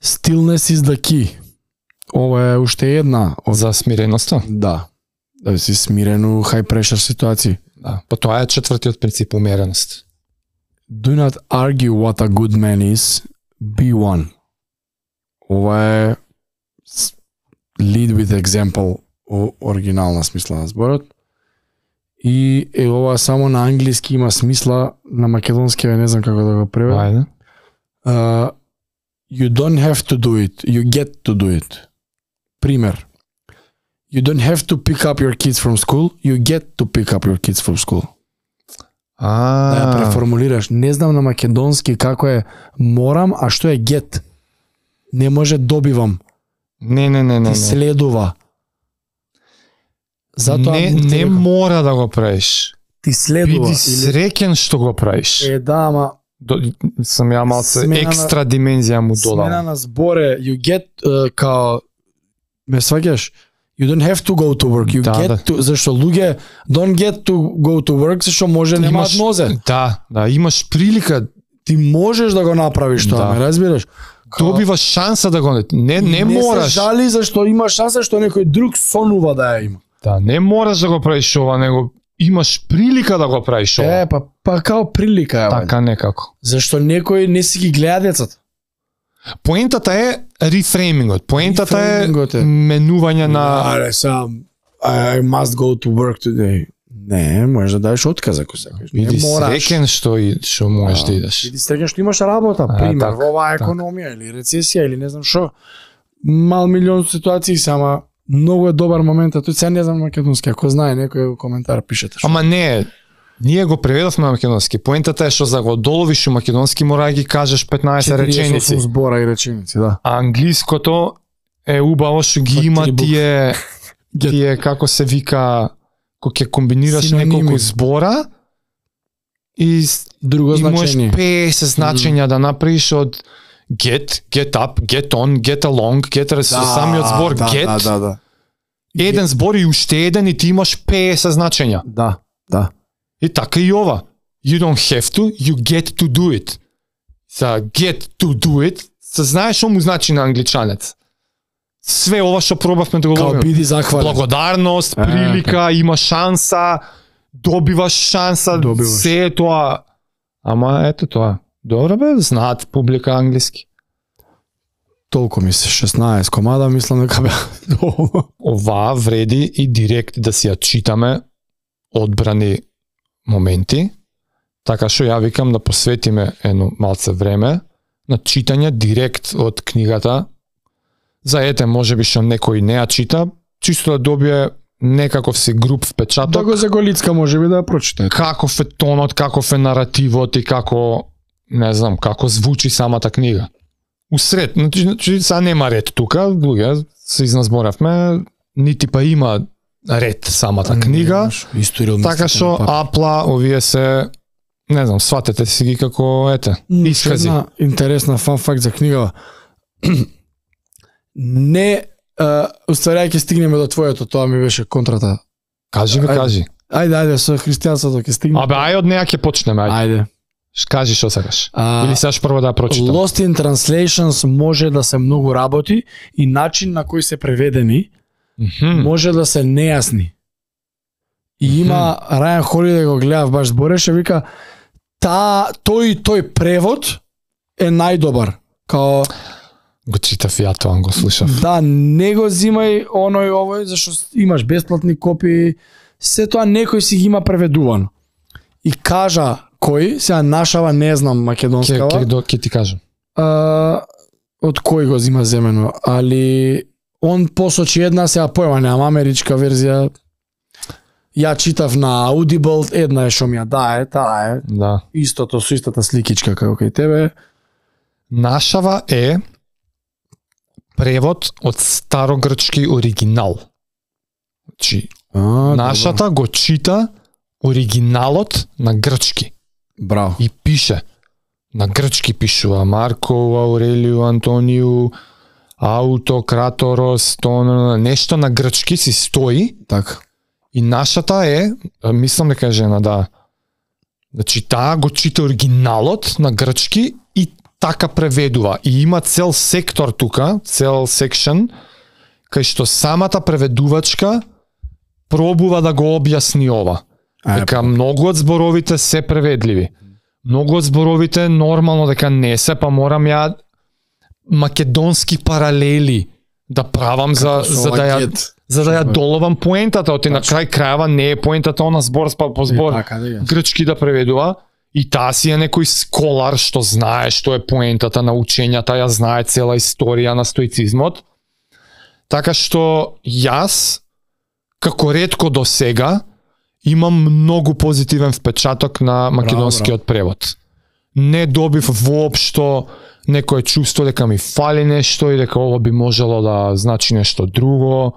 [SPEAKER 1] Stillness is the key. Ова е уште една
[SPEAKER 2] за смиреноста.
[SPEAKER 1] Да. Да си смирен у high pressure ситуации.
[SPEAKER 2] Да. Па тоа е 4-тиот принцип умереност.
[SPEAKER 1] Do not argue what a good man is, be one. Ова е lead with example у оригинална смисла на зборот. И ова само на англиски има смисла, на македонски не знам како да го преведам.
[SPEAKER 2] Ајде.
[SPEAKER 1] You don't have to do it, you get to do it. Пример. You don't have to pick up your kids from school, you get to pick up your kids from school. Да ја преформулираш. Не знам на македонски како е морам, а што е get. Не може добивам.
[SPEAKER 2] Не.
[SPEAKER 1] Ти следува. Затоа
[SPEAKER 2] не мора да го правиш.
[SPEAKER 1] Ти следува.
[SPEAKER 2] Биди среќен што го правиш.
[SPEAKER 1] Да, ама
[SPEAKER 2] сам ја малце екстра димензија му додал.
[SPEAKER 1] Смена на зборе, you get као ме сваќаш? You don't have to go to work, you get to, зашто луѓе don't get to go to work, зашто може немаат нозе.
[SPEAKER 2] Да, имаш прилика.
[SPEAKER 1] Ти можеш да го направиш тоа, ме разбираш?
[SPEAKER 2] Добиваш шанса да го не мораш.
[SPEAKER 1] Не се жали зашто има шанса што некој друг сонува да ја има.
[SPEAKER 2] Да, не мораш да го правиш ова, него имаш прилика да го правиш ова.
[SPEAKER 1] Па као прилика е.
[SPEAKER 2] Така некако.
[SPEAKER 1] Зашто некој не си ги гледа децата.
[SPEAKER 2] Поентата е рефреймингот. Поентата е менување на
[SPEAKER 1] I must go to work today. Не, можеш да дадеш отказ ако сакаш.
[SPEAKER 2] Биди среќен што можеш да идеш.
[SPEAKER 1] Биди среќен што имаш работа, пример, во оваа економија или рецесија или не знам што. Мал милион ситуации сама многу е добар момент, а тој се не знам македонски, ако знае некој коментар пишете.
[SPEAKER 2] Ама не, ние го преведовме на македонски. Поентата е што за го доловиш у македонски мора да ги кажеш 15 реченици.
[SPEAKER 1] 48 збора и реченици, да.
[SPEAKER 2] А англиското е убаво што ги има тие како се вика, кога ќе комбинираш неколку збора и
[SPEAKER 1] друго значење.
[SPEAKER 2] Можеш 50 значења да направиш од get up, get on, get along, самиот збор get.
[SPEAKER 1] Да.
[SPEAKER 2] Еден збор и уште еден и ти имаш 50 значења.
[SPEAKER 1] Да.
[SPEAKER 2] И така и ова. You don't have to, you get to do it. Get to do it, знаеш што му значи на англичанец. Све ова што пробавме да го ловиме.
[SPEAKER 1] Биди захвален.
[SPEAKER 2] Благодарност, прилика, има шанса, добиваш шанса, се е тоа. Ама ето тоа. Добро бе, знаат публика англиски.
[SPEAKER 1] Толку ми се 16 комада, мислам дека бе.
[SPEAKER 2] Ова вреди и директ да си ја читаме одбрани моменти, така што ја викам да посветиме едно малце време на читање директ од книгата. За можеби што некој не ја чита, чисто да добие некаков си груп впечаток.
[SPEAKER 1] Да го заголицка можеби да ја прочита.
[SPEAKER 2] Каков е тонот, каков е наративот и како, не знам, како звучи самата книга. Усред, значи са нема ред тука, луѓе се изназборавме, нити па има ред самата книга. Така што апла овие се, не знам, сватете си ги како искази.
[SPEAKER 1] Интересна фан факт за книга. Не, уствари ќе стигнеме до твоето, тоа ми беше контрата.
[SPEAKER 2] Кажи.
[SPEAKER 1] Ајде, со христијанството ќе стигнеме.
[SPEAKER 2] Ајде од неа ќе почнеме,
[SPEAKER 1] ајде.
[SPEAKER 2] Кажи што сакаш. Или сакаш прво да прочитам.
[SPEAKER 1] Lost in Translations може да се многу работи и начин на кој се преведени може да се нејасни. И има Рајан Холидей го гледав баш збореше, вика тој превод е најдобар. Као
[SPEAKER 2] го читав ја тоа, го слушав.
[SPEAKER 1] Да, не го зимај овој, зашто имаш бесплатни копии, се тоа некој си ги има преведувано. И кажа кој, сега нашава не знам македонскава.
[SPEAKER 2] Ке ти кажам.
[SPEAKER 1] Од кој го зима земено, али он посочи една, сега појма немам, америчка верзија. Ја читав на Audible, една е што ми ја дае, таа е.
[SPEAKER 2] Да.
[SPEAKER 1] Истото со истата сликичка како кај тебе.
[SPEAKER 2] Нашава е превод од старогрчки оригинал. Значи, нашата го чита оригиналот на грчки.
[SPEAKER 1] Браво.
[SPEAKER 2] И пише. На грчки пишува Марко Аурелију Антонију Аутократорос, нешто на грчки си стои.
[SPEAKER 1] Така.
[SPEAKER 2] И нашата е, мислам дека е жена, да. Значи таа го чита оригиналот на грчки и така преведува. И има цел сектор тука, цел секшн, кај што самата преведувачка пробува да го објасни ова. Дека многу од зборовите се преведливи. Многу од зборовите нормално дека не се, па морам ја македонски паралели да правам за за да ја доловам поентата, оти на крај крајава не е поентата она збор по збор грчки да преведува, и таа си е некој сколар што знае што е поентата на учењата, ја знае цела историја на стоицизмот. Така што јас, како ретко до сега, имам многу позитивен впечаток на македонскиот превод. Не добив воопшто некое чувство дека ми фали нешто и дека ова би можело да значи нешто друго.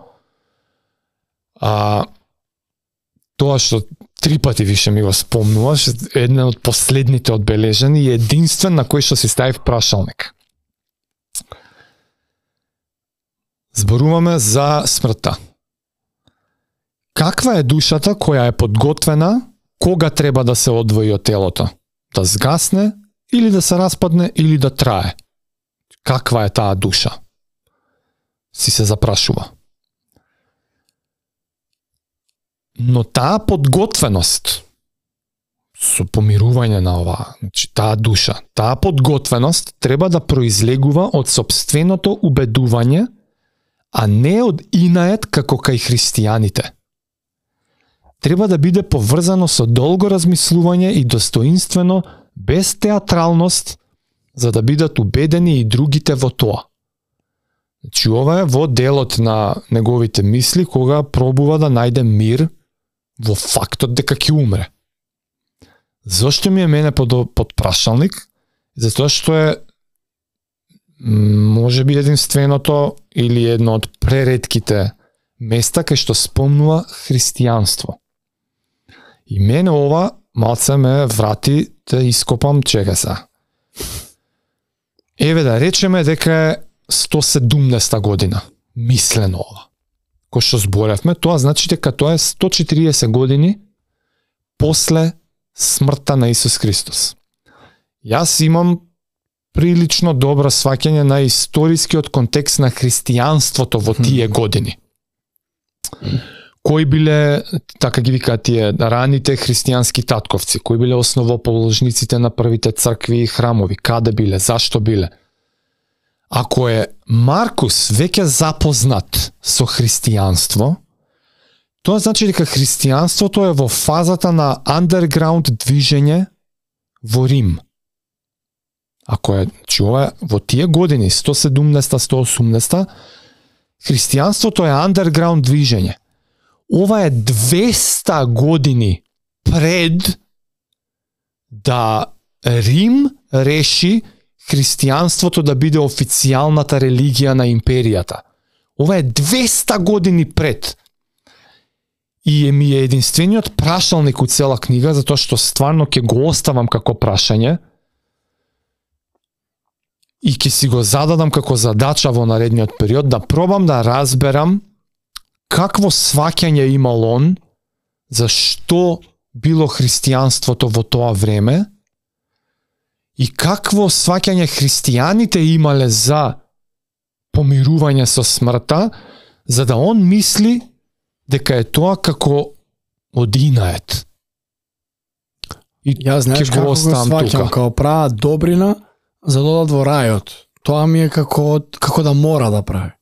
[SPEAKER 2] Тоа што 3 пати више ми го спомнуваш, еден од последните одбележени и единствен на кој што си ставив прашалник. Зборуваме за смртта. Каква е душата која е подготвена кога треба да се одвои од телото? Да згасне, или да се распадне, или да трае? Каква е таа душа? Си се запрашува. Но таа подготвеност со помирување на ова, значи таа душа, таа подготвеност треба да произлегува од сопственото убедување, а не од инаед како кај христијаните. Треба да биде поврзано со долго размислување и достоинствено, без театралност, за да бидат убедени и другите во тоа. Значи ова е во делот на неговите мисли, кога пробува да најде мир во фактот дека ќе умре. Зошто ми е мене под прашалник? Затоа што е можеби единственото или едно од преретките места кај што спомнува христијанство. И мене ова малце ме врати да ископам чека се. Еве да речеме дека е 170 година, мислено ова. Кој што зборевме, тоа значи дека тоа е 140 години после смртта на Исус Христос. Јас имам прилично добро сваќање на историскиот контекст на христијанството во тие години. Кои биле, така ги викаат тие, раните христијански татковци, кои биле основоположниците на првите цркви и храмови, каде биле, зашто биле. Ако е Маркус веќе запознат со христијанство, тоа значи дека христијанството е во фазата на андерграунд движење во Рим. Ако е, ова е во тие години, 170-180, христијанството е андерграунд движење. Ова е 200 години пред да Рим реши христијанството да биде официјалната религија на империјата. Ова е 200 години пред. И ми е единствениот прашалник у цела книга, затоа што стварно ќе го оставам како прашање и ќе си го зададам како задача во наредниот период да пробам да разберам какво сваќање имал он, за што било христијанството во тоа време и какво сваќање христијаните имале за помирување со смртта, за да он мисли дека е тоа како од инаед. И
[SPEAKER 1] јас знаеш како го сваќам, како права добрина за да одат во рајот. Тоа ми е како да мора да прави,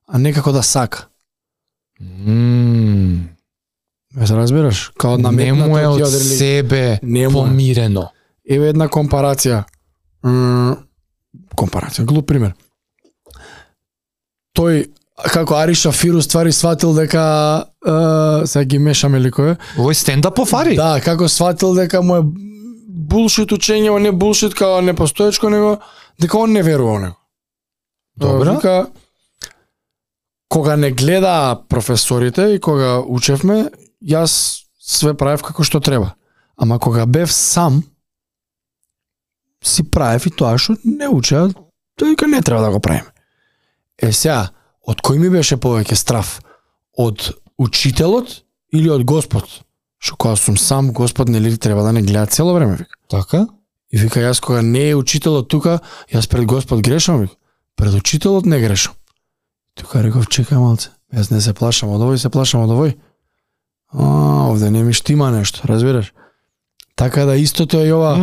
[SPEAKER 1] а не како да сака. Ме се разбираш? Као наметнато
[SPEAKER 2] не му е од себе помирено.
[SPEAKER 1] Еве една компарација. Глуп пример. Тој, како Ари Шафир ствари сватил дека сега ги мешаме ликове.
[SPEAKER 2] Овој стендапов Ари?
[SPEAKER 1] Да, како сватил дека му е булшит учење, не булшит као не постоечко, него дека он не верува во него.
[SPEAKER 2] Добро.
[SPEAKER 1] Вика, кога не гледа професорите и кога учевме, јас све правев како што треба. Ама кога бев сам, си правев и тоа што не учеа, дека не треба да го правиме. Сега, од кој ми беше повеќе страф? Од учителот или од Господ? Што кога сум сам, Господ нели треба да не гледа цело време, вика.
[SPEAKER 2] Така?
[SPEAKER 1] И вика, јас кога не е учителот тука, јас пред Господ грешам, вика. Пред учителот не грешам. Тука реков, чекај малце, јас не се плашам од овој, се плашам од овој. Овде не ми штима нешто, разбираш? Така да истото е ова,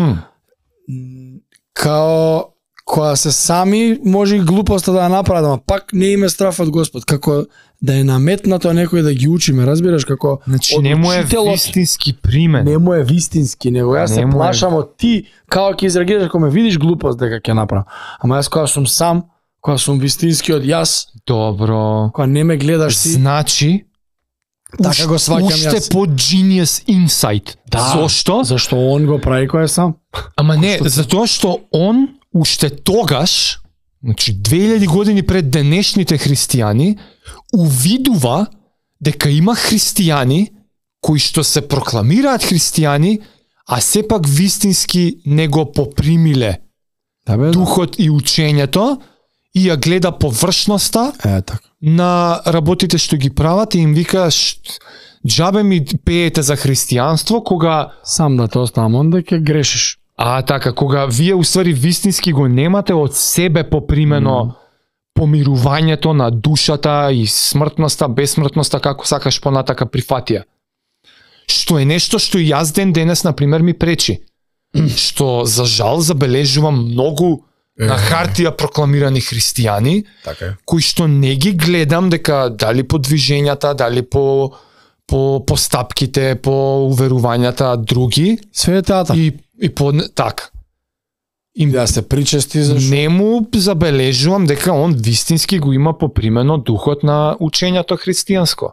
[SPEAKER 1] која се сами може и глупоста да ја направат, ама пак не име страф од Господ, како да е наметнато некој да ги учиме, разбираш, како
[SPEAKER 2] Значи не му е вистински примен.
[SPEAKER 1] Не му е вистински, него јас се плашам од ти, како ќе изреагираш кога ме видиш глупост дека ќе направам. Ама јас кога сум сам, кога сум вистински од јас,
[SPEAKER 2] Добро.
[SPEAKER 1] кога не ме гледаш ти,
[SPEAKER 2] Значи
[SPEAKER 1] така го сваќам јас.
[SPEAKER 2] Уште по genius insight. Зошто?
[SPEAKER 1] Зашто он го прави кој е сам?
[SPEAKER 2] Ама не, затоа што он уште тогаш, значи 2000 години пред денешните христијани, увидува дека има христијани кои што се прокламираат христијани, а сепак вистински не го попримиле духот и учењето и ја гледа површноста
[SPEAKER 1] така.
[SPEAKER 2] на работите што ги прават и им вика џабе ми пеете за христијанство кога
[SPEAKER 1] Сам да те оставам, онда ќе грешиш.
[SPEAKER 2] така, кога вие уствари вистински го немате од себе попримено помирувањето на душата и смртноста, безсмртноста, како сакаш понатака прифатија. Што е нешто што и јас денес, например, ми пречи. Што, за жал, забележувам многу на хартија прокламирани христијани,
[SPEAKER 1] Така е.
[SPEAKER 2] кои што не ги гледам дека дали по движењата, дали по постапките, по уверувањата други.
[SPEAKER 1] Све е театар.
[SPEAKER 2] И по така.
[SPEAKER 1] Им да се причести зашто
[SPEAKER 2] Не му забележувам дека он вистински го има попримено духот на учењето христијанско.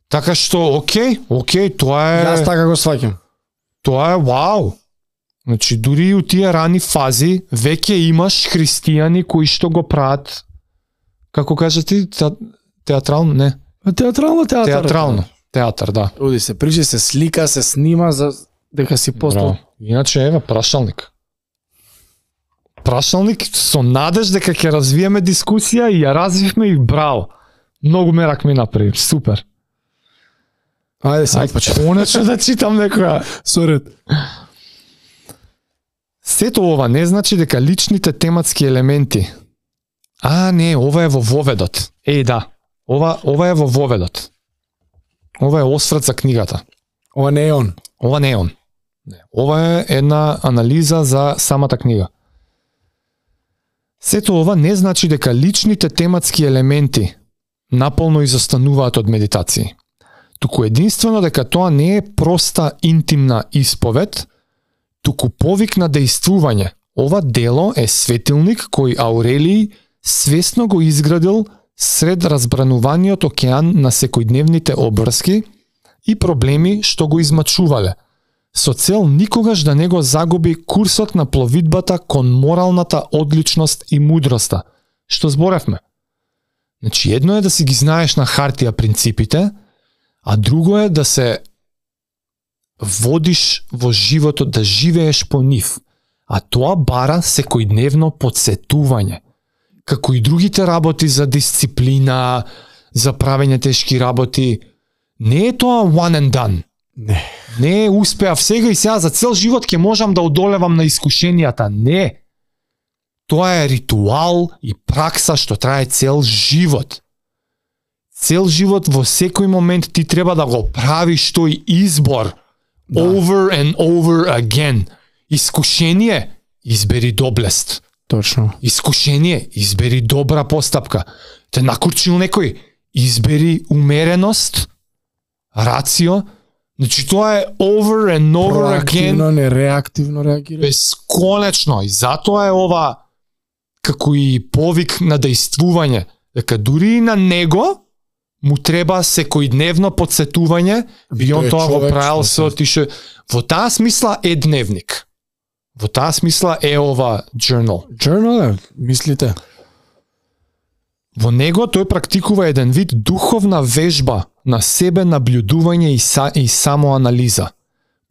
[SPEAKER 2] Така што, окей, тоа е...
[SPEAKER 1] Јас така го сваќам.
[SPEAKER 2] Тоа е вау. Значи, дури и у тие рани фази, веќе имаш христијани кои што го прават, како кажа ти, театрално? Не.
[SPEAKER 1] Театрално.
[SPEAKER 2] Театар, да.
[SPEAKER 1] Оди се причи, се слика, се снима за дека си постал.
[SPEAKER 2] Иначе, еве, прашалник. Прашалник со надеж дека ќе развиеме дискусија и ја развивме и браво. Многу мерак ми направи, супер.
[SPEAKER 1] Ајде сега почнем.
[SPEAKER 2] Конечно да читам некоја.
[SPEAKER 1] Сорет.
[SPEAKER 2] Сето ова не значи дека личните тематски елементи. Не, ова е во воведот. Да. Ова е во воведот. Ова е осврт за книгата.
[SPEAKER 1] Ова не е он.
[SPEAKER 2] Ова не е он. Не. Ова е една анализа за самата книга. Сето ова не значи дека личните тематски елементи наполно изостануваат од медитации. Туку единствено дека тоа не е проста интимна исповед, туку повик на дејствување. Ова дело е светилник кој Аурелиј свесно го изградил сред разбрануваниот океан на секојдневните обврски и проблеми што го измачувале, со цел никогаш да не го загуби курсот на пловидбата кон моралната одличност и мудроста, што зборевме. Значи, едно е да си ги знаеш на хартија принципите, а друго е да се водиш во животот, да живееш по нив. А тоа бара секојдневно подсетување. Како и другите работи за дисциплина, за правење тешки работи, не е тоа one and done. Не успеав сега и сега за цел живот ќе можам да одолевам на искушенијата. Не. Тоа е ритуал и пракса што трае цел живот. Цел живот во секој момент ти треба да го правиш тој избор. Over and over again. Искушение, избери доблест.
[SPEAKER 1] Точно.
[SPEAKER 2] Искушение, избери добра постапка. Те накурчил некој, избери умереност, рацио. Значи тоа е over and over again.
[SPEAKER 1] Проактивно, не реактивно реагира.
[SPEAKER 2] Бесконечно. И затоа е ова како и повик на дејствување. Дека дури и на него му треба секојдневно подсетување и он тоа го правил се отише. Во таа смисла е дневник. Во таа смисла е ова journal.
[SPEAKER 1] Journal е, мислите.
[SPEAKER 2] Во него тој практикува еден вид духовна вежба на себе наблюдување и самоанализа.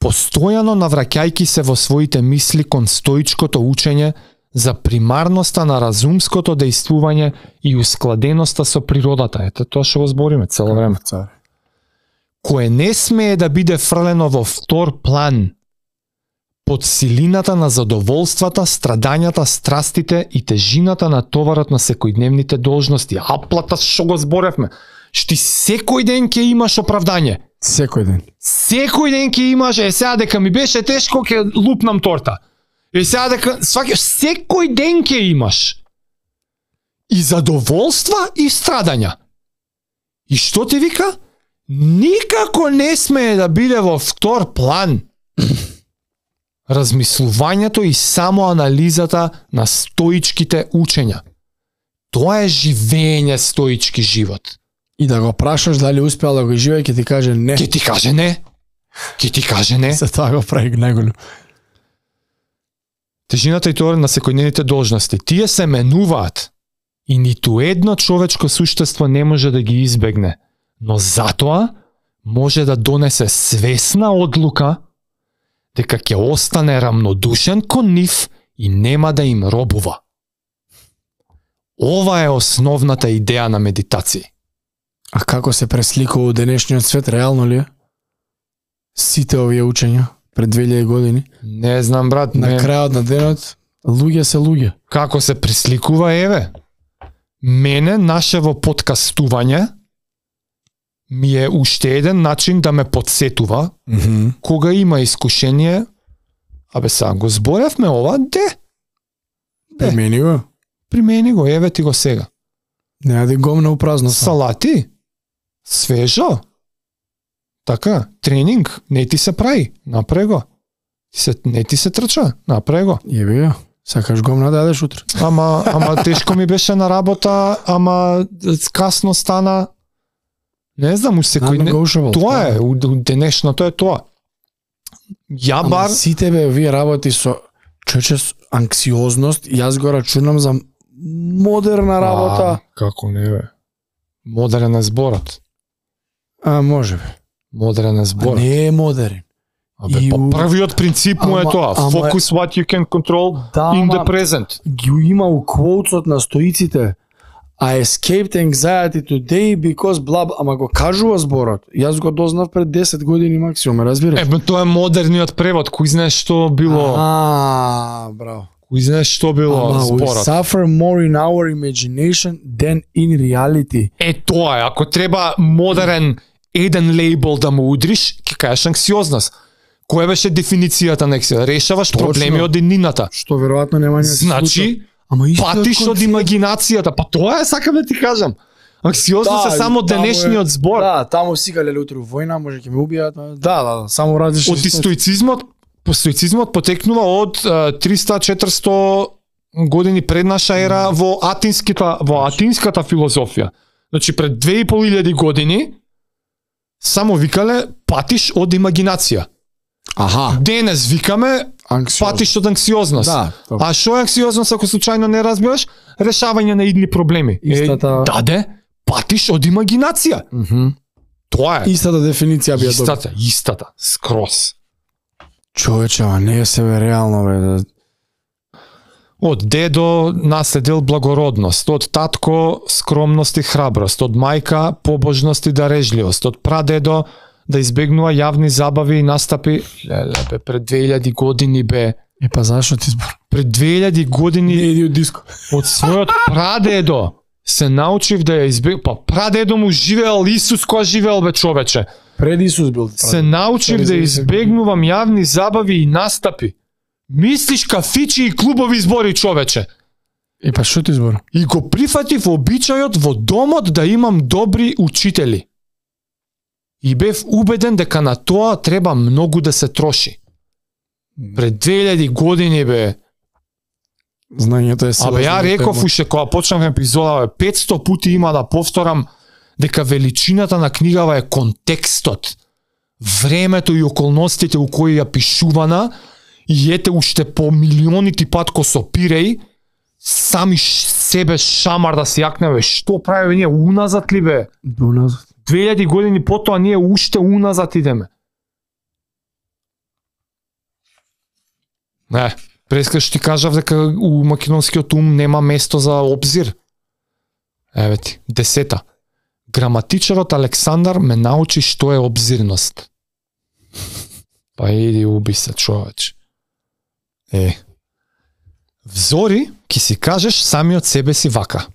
[SPEAKER 2] Постојано навраќајки се во своите мисли кон стоичкото учење за примарноста на разумското дејствување и ускладеноста со природата. Ето тоа што го збориме цело време. Кое не смее да биде фрлено во втор план под силината на задоволствата, страдањата, страстите и тежината на товарот на секојдневните должности. Аплата што го зборевме. Шти секој ден ќе имаш оправдање.
[SPEAKER 1] Секој ден.
[SPEAKER 2] Секој ден ќе имаш, сега дека ми беше тешко, ќе лупнам торта. И сега дека сваќаш секој ден ќе имаш и задоволства и страдања. И што ти вика? Никако не смее да биде во втор план размислувањето и само анализата на стоичките учења. Тоа е живење стоички живот.
[SPEAKER 1] И да го прашаш дали успеал да го живее, ќе ти каже не.
[SPEAKER 2] Ќе ти каже не. Ќе ти каже не.
[SPEAKER 1] За тоа го прави најголем.
[SPEAKER 2] Тежината и тоа на секојдневните должности. Тие се менуваат и ниту едно човечко суштество не може да ги избегне. Но затоа може да донесе свесна одлука дека ќе остане рамнодушен кон нив и нема да им робува. Ова е основната идеја на медитација.
[SPEAKER 1] А како се пресликува у денешниот свет, реално ли е? Сите овие учења пред 2000 години?
[SPEAKER 2] Не знам, брат.
[SPEAKER 1] На крајот на денот, луѓе се луѓе.
[SPEAKER 2] Како се пресликува, еве. Мене, нашево подкастување, ми е уште еден начин да ме подсетува, кога има искушение, абе сега го зборевме ова,
[SPEAKER 1] Примени го.
[SPEAKER 2] Примени го, еве ти го сега.
[SPEAKER 1] Не јади гомна у празно.
[SPEAKER 2] Салати, свежо, така, тренинг, не ти се прави, направи го. Не ти се трча, направи го.
[SPEAKER 1] Јеби ја, сакаш гомна да јадеш утре.
[SPEAKER 2] Ама тешко ми беше на работа, ама касно стана. Не знам, тоа е, у денешното е тоа. Ја бар...
[SPEAKER 1] Сите бе, овие работи со анксиозност, јас го рачунам за модерна работа.
[SPEAKER 2] Како не бе? Модерен е зборот.
[SPEAKER 1] Може бе.
[SPEAKER 2] Модерен е зборот.
[SPEAKER 1] Не е модерен.
[SPEAKER 2] Првиот принцип му е тоа. Focus what you can control in the present.
[SPEAKER 1] Ги има у квоутсот на стоиците. I escaped anxiety today because blah, ама го кажува зборот. Јас го дознав пред 10 години максимум, разбираш?
[SPEAKER 2] Тоа е модерниот превод, кој знае што било.
[SPEAKER 1] Браво.
[SPEAKER 2] Кој знае што било зборот.
[SPEAKER 1] We suffer more in our imagination than in reality.
[SPEAKER 2] Тоа е, ако треба модерен еден лейбл да му удриш, ќе кажеш анксиозност. Која беше дефиницијата на анксиозност? Решаваш проблеми од еднината.
[SPEAKER 1] Што веројатно нема никаков
[SPEAKER 2] Значи, патиш од имагинацијата. Па тоа е, сакам да ти кажам. Анксиозност е само денешниот збор.
[SPEAKER 1] Да, таму сикале утре војна, може ќе ме убијат. Да, само различни.
[SPEAKER 2] Од стоицизмот потекнува од 300-400 години пред наша ера во атинската филозофија. Значи пред 2500 години само викале патиш од имагинација. Денес викаме патиш од анксиозност. А што е анксиозност ако случајно не разбираш? Решавање на идни проблеми. Патиш од имагинација. Тоа е.
[SPEAKER 1] Истата дефиниција би ја добил.
[SPEAKER 2] Истата, скроз.
[SPEAKER 1] Човече, не е себе реално бе.
[SPEAKER 2] Од дедо наследил благородност, од татко скромност и храброст, од мајка побожност и дарежливост, од прадедо да избегнува јавни забави и настапи. Леле, пред 2000 години бе.
[SPEAKER 1] Па зашо ти збор?
[SPEAKER 2] Пред 2000 години
[SPEAKER 1] не иди од диско.
[SPEAKER 2] Од својот прадедо се научив да ја избегнува. Па прадедо му живеел Исус која живеел бе човече.
[SPEAKER 1] Пред Исус бил.
[SPEAKER 2] Се научив да избегнувам јавни забави и настапи. Мислиш кафичи и клубови збори човече.
[SPEAKER 1] Па што ти збор?
[SPEAKER 2] И го прифатив обичајот во домот да имам добри учители. И бев убеден дека на тоа треба многу да се троши. Пред 2000 години бе.
[SPEAKER 1] Знањето е сила.
[SPEAKER 2] Ја реков уште кога почнав епизода, 500 пати има да повторам дека величината на книгава е контекстот, времето и околностите у кои ја пишувана, и ете уште по милионити пат ко сопиреј, сами себе шамар да се јакневе. Што правиме ние? Уназад ли бе?
[SPEAKER 1] Уназад.
[SPEAKER 2] 2000 години потоа ние уште уназад идеме. Не, прескаш ти кажав дека у македонскиот ум нема место за обзир. Еве ти, 10. Граматичарот Александар ме научи што е обзирност. Па иди уби се, човеч. Взори, ки си кажеш самиот себе си вака.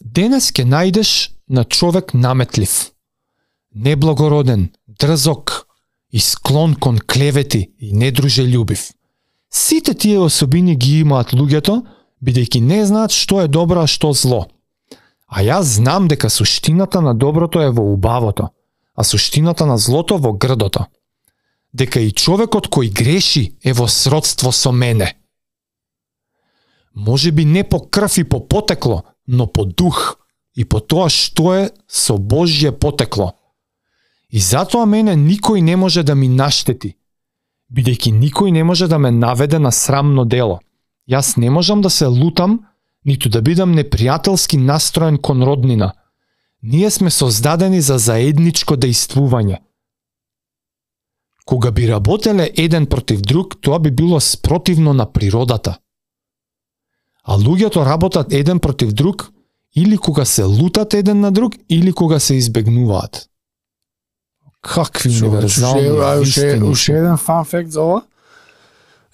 [SPEAKER 2] Денес ке најдеш на човек наметлив, неблагороден, дрзок и склон кон клевети и недружелюбив. Сите тие особини ги имаат луѓето, бидејќи не знаат што е добро, а што зло. А јас знам дека суштината на доброто е во убавото, а суштината на злото во грдото. Дека и човекот кој греши е во сродство со мене. Може би не по крв и по потекло, но по дух и по тоа што е со Божје потекло. И затоа мене никој не може да ми наштети, бидејќи никој не може да ме наведе на срамно дело. Јас не можам да се лутам, ниту да бидам непријателски настроен кон роднина. Ние сме создадени за заедничко дејствување. Кога би работеле еден против друг, тоа би било спротивно на природата. А луѓето работат еден против друг или кога се лутат еден на друг, или кога се избегнуваат. Какви универзални вистини.
[SPEAKER 1] Уште еден фан факт за ова.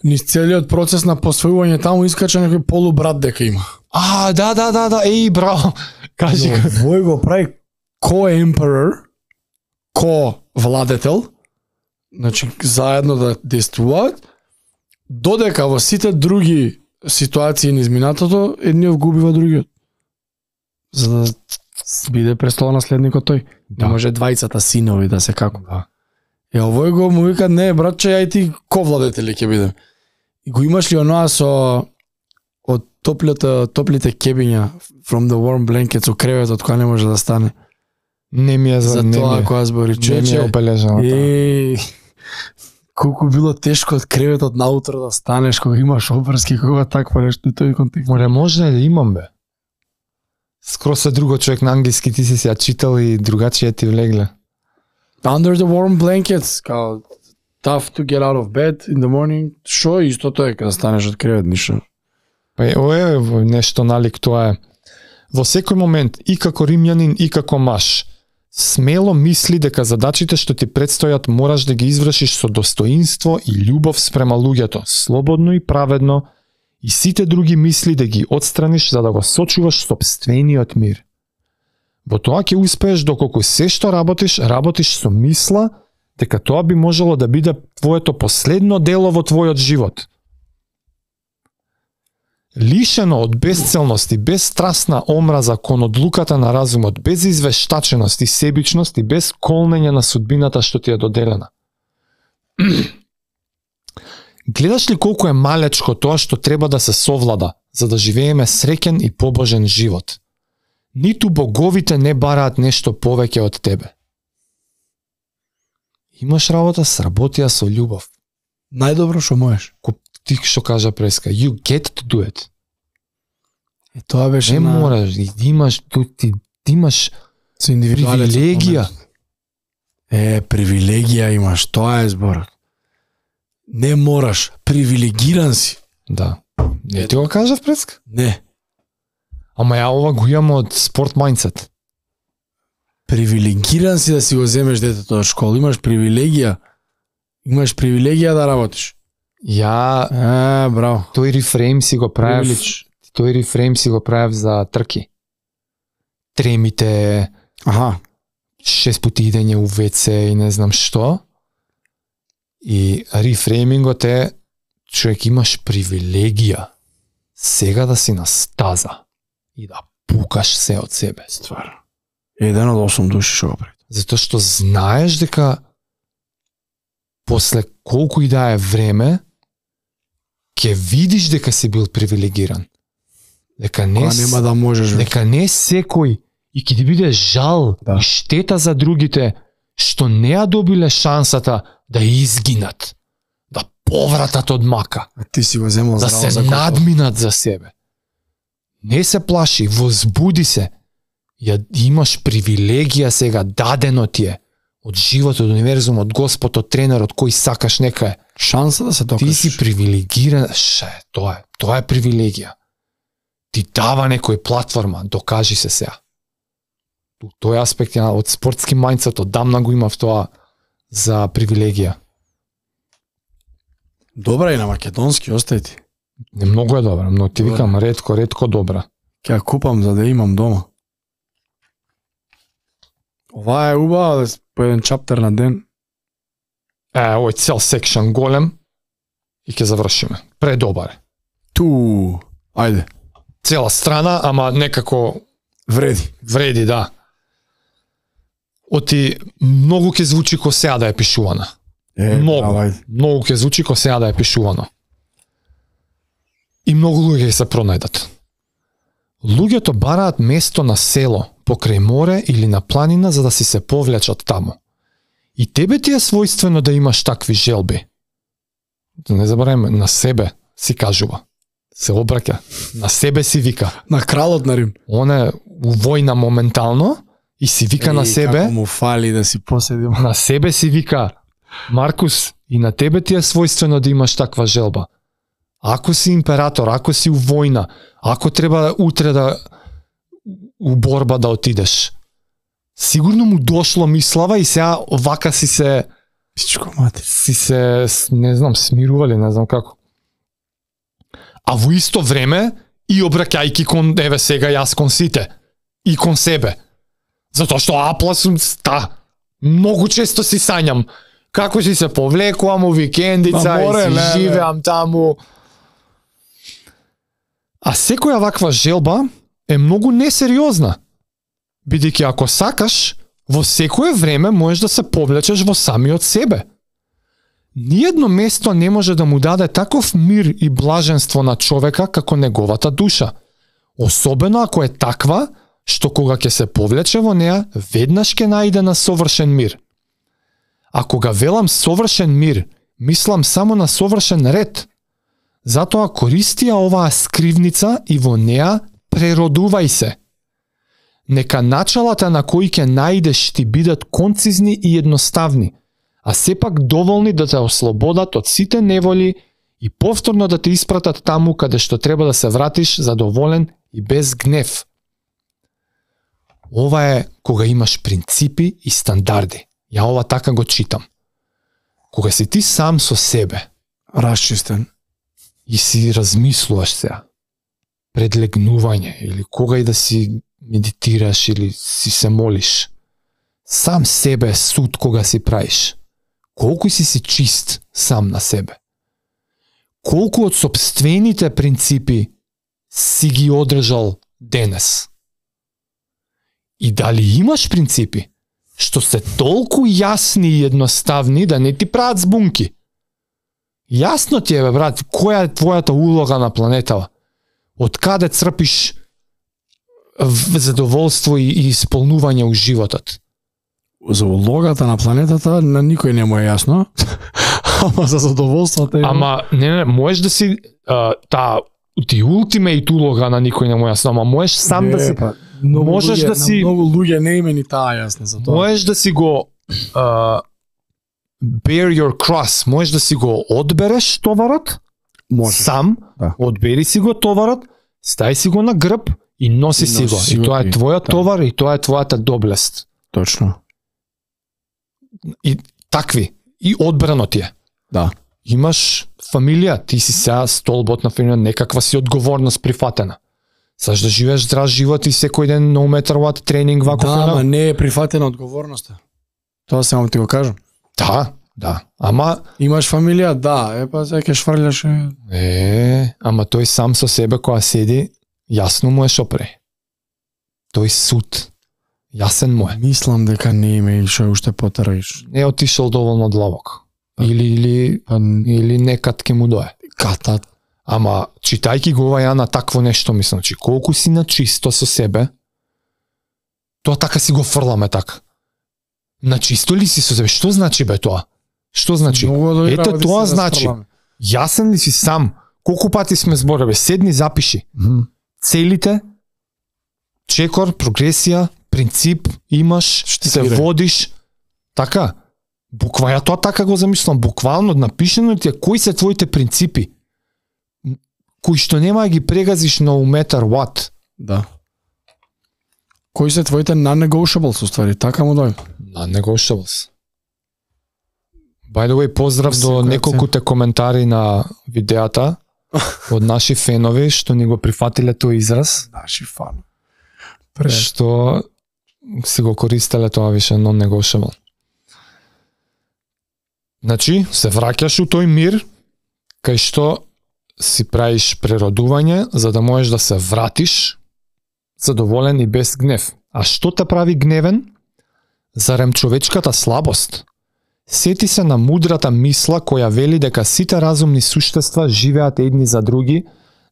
[SPEAKER 1] Низ целиот процес на посвојување таму искача некој полубрат дека има.
[SPEAKER 2] Да, еј, браво. Кажи.
[SPEAKER 1] Вој го прави ко-емперор, ко-владетел, значи заедно да действуваат, додека во сите други ситуации низ минатото, едниот губива другиот. За да биде престолонаследникот тој.
[SPEAKER 2] Да.
[SPEAKER 1] Не може двајцата синови да се како.
[SPEAKER 2] Да.
[SPEAKER 1] Овој го му вика, не, братче, ај ти ко-владетели ќе бидем. И го имаш ли оноа со од топлите кебиња from the warm blanket со креветот која не може да стане.
[SPEAKER 2] Не ми е
[SPEAKER 1] За тоа која збори.
[SPEAKER 2] Не ми е обележано.
[SPEAKER 1] Колку било тешко од креветот наутро да станеш кога имаш обврски, кога такво нешто и тој контекст.
[SPEAKER 2] Може да имам бе. Скоро се друго човек на англиски, ти си ја читал и другачие ти влегле.
[SPEAKER 1] Under the warm blankets, као tough to get out of bed in the morning. Шо истото е кога станеш од кревет, ништо.
[SPEAKER 2] Па ова е нешто налик, тоа е. Во секој момент, и како римјанин, и како маж, смело мисли дека задачите што ти предстојат мораш да ги извршиш со достоинство и љубов спрема луѓето, слободно и праведно, и сите други мисли да ги отстраниш за да го сочуваш сопствениот мир. Во тоа ќе успееш доколку се што работиш со мисла дека тоа би можело да биде твоето последно дело во твојот живот. Лишено од безцелност и безстрасна омраза кон одлуката на разумот, без извештаченост и себичност и без колнење на судбината што ти е доделена. Гледаш ли колку е малечко тоа што треба да се совлада, за да живееме среќен и побожен живот? Ниту боговите не бараат нешто повеќе од тебе. Имаш работа, сработија со љубов.
[SPEAKER 1] Најдобро што можеш.
[SPEAKER 2] Ти што кажа Преска, you get to do it.
[SPEAKER 1] И тоа беше
[SPEAKER 2] не мораш, имаш привилегија.
[SPEAKER 1] Привилегија имаш, тоа е зборот. Не мораш, привилегиран си.
[SPEAKER 2] Да. Не ти го кажав Преска?
[SPEAKER 1] Не.
[SPEAKER 2] Ама ја ова го имам од спорт mindset.
[SPEAKER 1] Привилегиран си да си го земеш детето од школа, имаш привилегија. Имаш привилегија да работиш. Браво.
[SPEAKER 2] Тој рефрейм си го правев. Тој рефрейм си го правев за трки. Тремите. 6 пати идење у ВЦ и не знам што. И рефреймингот е човек имаш привилегија сега да си на стаза и да пукаш се од себе.
[SPEAKER 1] Стварно. Еден од 8 души што го прави.
[SPEAKER 2] Затоа што знаеш дека после колку и да е време ќе видиш дека си бил привилегиран. Дека не
[SPEAKER 1] нема да можеш.
[SPEAKER 2] Дека не секој и ќе ти биде жал и штета за другите што не ја добиле шансата да изгинат, да повратат од мака.
[SPEAKER 1] А ти си го земал
[SPEAKER 2] да се надминат за себе. Не се плаши, возбуди се. Ја имаш привилегија сега, дадено ти е од животот, од универзумот, од Господ, од тренерот, кој сакаш нека е.
[SPEAKER 1] Шанса да се докажеш.
[SPEAKER 2] Ти си привилегиран, тоа е привилегија. Ти дава некој платформа, докажи се сега. Тој аспект од спортски мајндсет, одамна го имав тоа за привилегија.
[SPEAKER 1] Добра и на македонски, остај ти.
[SPEAKER 2] Не многу е добра, но ти викам ретко добра.
[SPEAKER 1] Ќе ја купам за да имам дома. Ова е убава, по еден чаптер на ден.
[SPEAKER 2] Овој цел секшн голем. и ќе завршиме. Предобар е.
[SPEAKER 1] Ајде.
[SPEAKER 2] Цела страна, ама некако
[SPEAKER 1] Вреди,
[SPEAKER 2] да. Оти многу ќе звучи ко сега да е пишувана. Многу ќе звучи ко сега да е пишувано. И многу луѓе се пронајдат. Луѓето бараат место на село, покрај море или на планина за да си се повлечат таму. И тебе ти е својствено да имаш такви желби. Не забравяме, на себе си кажува. Се обраќа. На себе си вика.
[SPEAKER 1] На кралот на Рим.
[SPEAKER 2] Он е у војна моментално и си вика на себе.
[SPEAKER 1] Како му фали да си поседим.
[SPEAKER 2] На себе си вика. Маркус, и на тебе ти е својствено да имаш таква желба. Ако си император, ако си у војна, ако треба утре да у борба да отидеш, сигурно му дошло мислава и сега вака си се не знам, смирували, не знам како. А во исто време и обраќајки кон еве сега јас кон сите и кон себе. Затоа што апласум многу често си сањам како си се повлекувам у викендица и си живеам таму. А секоја ваква желба е многу несериозна, бидејќи ако сакаш, во секое време можеш да се повлечеш во самиот себе. Ниедно место не може да му даде таков мир и блаженство на човека како неговата душа, особено ако е таква, што кога ќе се повлече во неа, веднаш ќе најде на совршен мир. А кога велам совршен мир, мислам само на совршен ред. Затоа користи ја оваа скривница и во неа преродувај се. Нека началата на кои ќе најдеш ти бидат концизни и едноставни, а сепак доволни да те ослободат од сите неволи и повторно да те испратат таму каде што треба да се вратиш задоволен и без гнев. Ова е кога имаш принципи и стандарди. Ја ова така го читам. Кога си ти сам со себе,
[SPEAKER 1] расчистен,
[SPEAKER 2] и си размислуваш сега, пред легнување или кога и да си медитираш или си се молиш, сам себе суд кога си правиш. Колку си чист сам на себе? Колку од сопствените принципи си ги одржал денес? И дали имаш принципи што се толку јасни и едноставни да не ти прават збунки? Јасно ти е, бе, брат, која е твојата улога на планетава? Од каде црпиш задоволство и исполнување у животот?
[SPEAKER 1] За улогата на планетата на никој не му е јасно. Ама за задоволството е...
[SPEAKER 2] Ама, не, можеш да си ти ултимейт улога на никој не му е јасно, ама можеш сам да си... Можеш да си...
[SPEAKER 1] Многу луѓе не име ни таа јасно за тоа.
[SPEAKER 2] Можеш да си го... bear your cross, можеш да си го одбереш товарот, сам, да. Одбери си го товарот, стај си го на грб и носи си го. И тоа е твојот товар и тоа е твојата доблест.
[SPEAKER 1] Точно.
[SPEAKER 2] И такви. И одбрано ти е.
[SPEAKER 1] Да.
[SPEAKER 2] Имаш фамилија, ти си сега столбот на фамилија, некаква си одговорност прифатена. Саш да живееш здрав живот и секој ден no matter what тренинг вако.
[SPEAKER 1] Да, ама не е прифатена одговорноста. Тоа само ти го кажам.
[SPEAKER 2] Да. Ама
[SPEAKER 1] имаш фамилија, да, па сега ќе шврљаш.
[SPEAKER 2] Ама тој сам со себе кога седи, јасно му е шо прави. Тој суд. Јасен му е.
[SPEAKER 1] Мислам дека не име и шо уште потраиш.
[SPEAKER 2] Не отишол доволно длабоко. Или некад ке му дое.
[SPEAKER 1] Катат.
[SPEAKER 2] Ама читајки го ова ја на такво нешто, мислам, че колку си на чисто со себе, тоа така си го фрламе така. На чисто ли си со себе? Што значи бе тоа? Што значи? Ете тоа значи. Јасен ли си сам? Колку пати сме збореве? Седни, запиши. Целите, чекор, прогресија, принцип имаш, се водиш. Така. Буквално тоа така го замислам. Буквално напишено ти е кои се твоите принципи. Кои што нема да ги прегазиш no matter what.
[SPEAKER 1] Да. Кои се твоите non-negotiables, уствари, така му дојде?
[SPEAKER 2] Non-negotiables. By the way, поздрав до неколкуте коментари на видеата од наши фенови што ни го прифатиле тој израз.
[SPEAKER 1] Наши фан.
[SPEAKER 2] Што си го користеле тоа више non-negotiable. Значи, се враќаш у тој мир, кај што си правиш преродување за да можеш да се вратиш задоволен и без гнев. А што те прави гневен? Зарем човечката слабост? Сети се на мудрата мисла која вели дека сите разумни суштества живеат едни за други,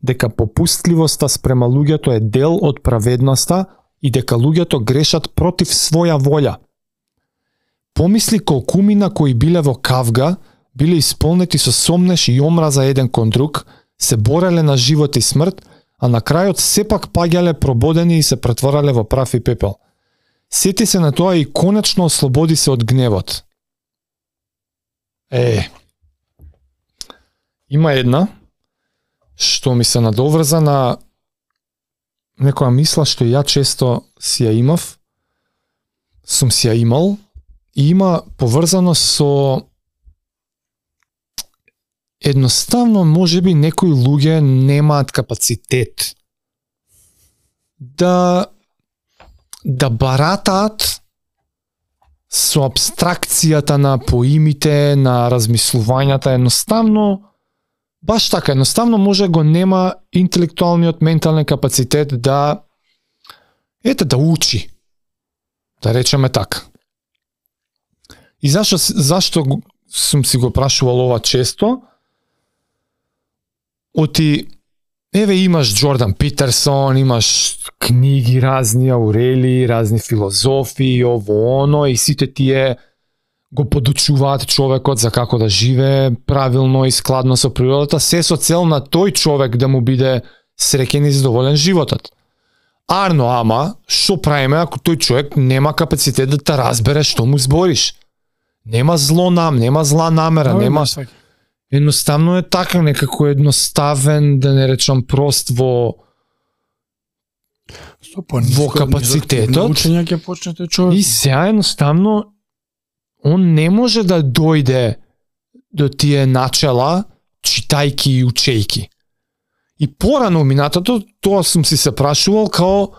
[SPEAKER 2] дека попустливоста спрема луѓето е дел од праведноста и дека луѓето грешат против своја волја. Помисли колкумина кои биле во кавга, биле исполнети со сомнеш и омраза еден кон друг, се бореле на живот и смрт, а на крајот сепак паѓале прободени и се претворале во прав и пепел. Сети се на тоа и конечно ослободи се од гневот. Има една што ми се надоврза на некоја мисла што ја често си ја имав, сум си ја имал, и има поврзано со едноставно можеби некои луѓе немаат капацитет да баратаат со абстракцијата на поимите, на размислувањата, едноставно баш така, едноставно може го нема интелектуалниот ментален капацитет да да учи. Да речеме така. И зашто сум си го прашувал ова често? Оти, имаш Джордан Питерсон, имаш книги разни, Аурели, разни филозофи, ово оно, и сите тие го подучуваат човекот за како да живее правилно и складно со природата, се со цел на тој човек да му биде среќен и задоволен животот. Арно, ама, што правиме ако тој човек нема капацитет да те разбере што му збориш? Нема нема зла намера, нема... Едноставно е така, некако едноставен, да не речам прост во капацитетот.
[SPEAKER 1] Учење ќе почне тој човек.
[SPEAKER 2] И сега едноставно он не може да дојде до тие начела читајки и учејки. И порано минатото тоа сум си се прашувал као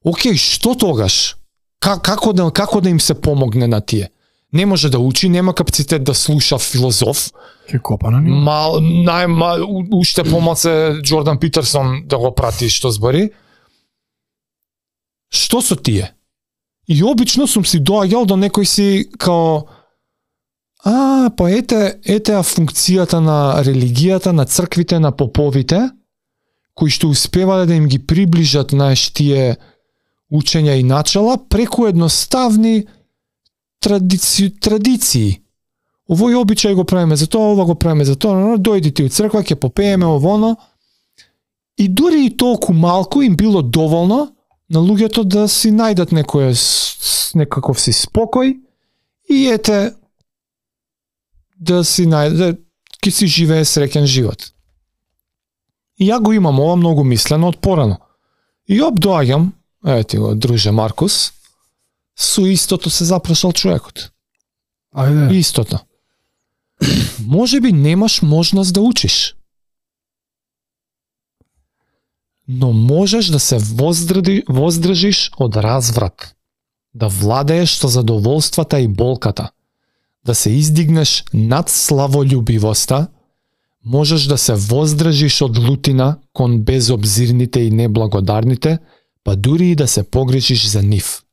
[SPEAKER 2] окей, што тогаш? Како да им се помогне на тие? Не може да учи, нема капацитет да слуша филозоф.
[SPEAKER 1] Ке копа на него.
[SPEAKER 2] Уште помалце Джордан Питерсон да го прати што збори. Што со тие? И обично сум си доаѓал до некој си као па ете функцијата на религијата, на црквите, на поповите, кои што успевале да им ги приближат тие учења и начала преку едноставни традиции. Овој обичај го правиме за тоа, ова го правиме за тоа, дојди ти у црква, ќе попееме овоно. И дури и толку малку им било доволно на луѓето да си најдат некаков си спокој и да си најдат, ќе си живее среќен живот. И ја го имам ова многу мислено од порано. И доаѓам, ти го, друже Маркус, со истото се запрашал човекот.
[SPEAKER 1] Ајде.
[SPEAKER 2] Истото. Може би немаш можност да учиш. Но можеш да се воздржиш од разврат, да владееш со задоволствата и болката, да се издигнеш над славолюбивоста, можеш да се воздржиш од лутина кон безобзирните и неблагодарните, па дури и да се погрешиш за нив.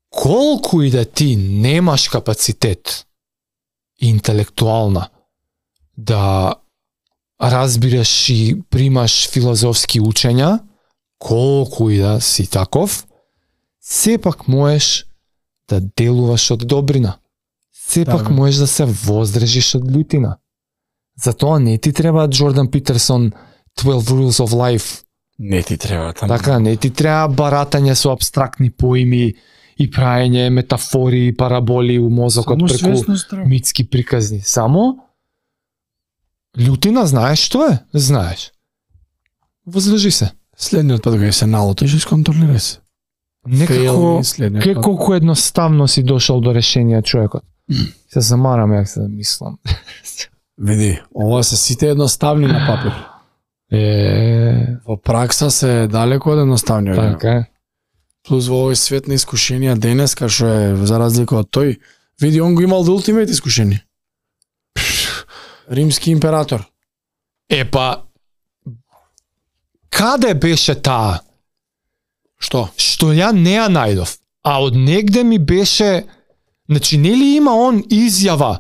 [SPEAKER 2] Колку и да ти немаш капацитет интелектуална да разбираш и примаш филозофски учења, колку и да си таков, сепак можеш да делуваш од добрина. Сепак можеш да се воздржиш од лутина. Затоа не ти треба Джордан Питерсон 12 Rules of Life.
[SPEAKER 1] Не ти треба таму.
[SPEAKER 2] Така, не ти треба баратање со абстрактни поими и праење метафори и параболи у мозокот преку митски приказни. Само лутина знаеш што е? Знаеш. Воздржи се.
[SPEAKER 1] Следниот пат кога се налутиш, исконтролирај се.
[SPEAKER 2] Некако колку едноставно си дошол до решение човекот. Се замарам јак се мислам.
[SPEAKER 1] Види, ова се сите едноставни на папир. Во пракса се далеко од едноставни.
[SPEAKER 2] Така е.
[SPEAKER 1] Плюс во овој свет на искушенија денеска, што е за разлика од тој, види, он го имал до ултимейт искушени. Римски император.
[SPEAKER 2] Епа, каде беше таа?
[SPEAKER 1] Што?
[SPEAKER 2] Што ја не ја најдов. А од негде ми беше, значи нели има он изјава?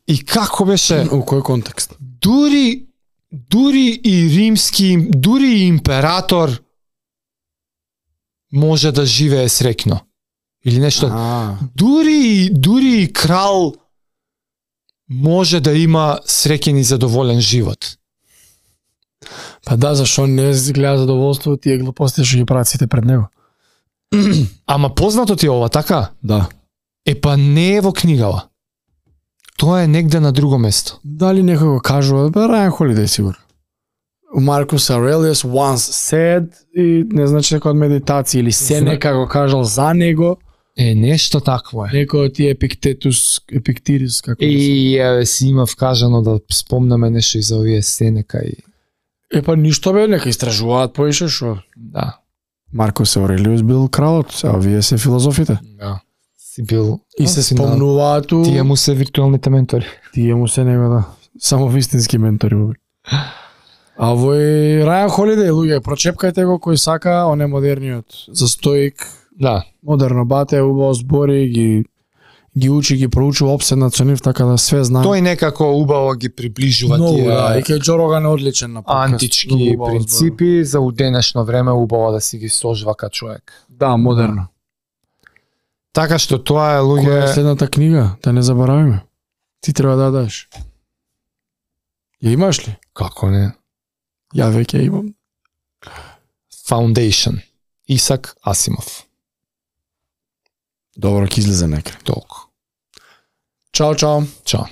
[SPEAKER 2] И како беше?
[SPEAKER 1] У кој контекст?
[SPEAKER 2] Дури и римски, дури и император може да живее среќно. Или нешто. Дури и крал може да има среќен и задоволен живот.
[SPEAKER 1] Па да, зашо не гледа задоволство тие глупости што ги прават сите пред него.
[SPEAKER 2] Ама познато ти е ова, така?
[SPEAKER 1] Да.
[SPEAKER 2] Епа не е во книгава. Тоа е негде на друго место.
[SPEAKER 1] Дали некој го кажува? Райан Холидей сигурно. Маркус Аурелиус once said, и не значи дека од медитација, или Сенека го кажал за него.
[SPEAKER 2] Нешто такво е.
[SPEAKER 1] Некој од тие Епиктирис, како
[SPEAKER 2] И си има вкажано да спомнаме нешто и за овие Сенека и...
[SPEAKER 1] Епа ништо бе, нека истражуваат поише шо.
[SPEAKER 2] Да.
[SPEAKER 1] Маркус Аурелиус бил кралот, а овие се филозофите.
[SPEAKER 2] Да. Си бил...
[SPEAKER 1] И се спомнуваат у...
[SPEAKER 2] Тие му се виртуелните ментори.
[SPEAKER 1] Тие му се него, да. Само вистински ментори. А овој Райан Холидей, луѓе, прочепкајте го кој сака, он е модерниот. За стоик.
[SPEAKER 2] Да.
[SPEAKER 1] Модерно бате, убаво збори, ги учи, ги проучува, опседнат со нив, така да све знае.
[SPEAKER 2] Тој некако убаво ги приближува
[SPEAKER 1] Много,
[SPEAKER 2] тие
[SPEAKER 1] да, и кај Џо Роган е одличен на подкаст.
[SPEAKER 2] антички принципи за у денешно време убаво да си ги сложва ка човек.
[SPEAKER 1] Да, модерно.
[SPEAKER 2] Така што тоа е,
[SPEAKER 1] Која е
[SPEAKER 2] луѓе...
[SPEAKER 1] следната книга? Да не заборавиме. Ти треба да дадеш. Ја имаш ли?
[SPEAKER 2] Како не?
[SPEAKER 1] Ја веќе имам.
[SPEAKER 2] Foundation. Исак Асимов.
[SPEAKER 1] Добро, ќе излезе некаде.
[SPEAKER 2] Толку.
[SPEAKER 1] Чао, чао.
[SPEAKER 2] Чао.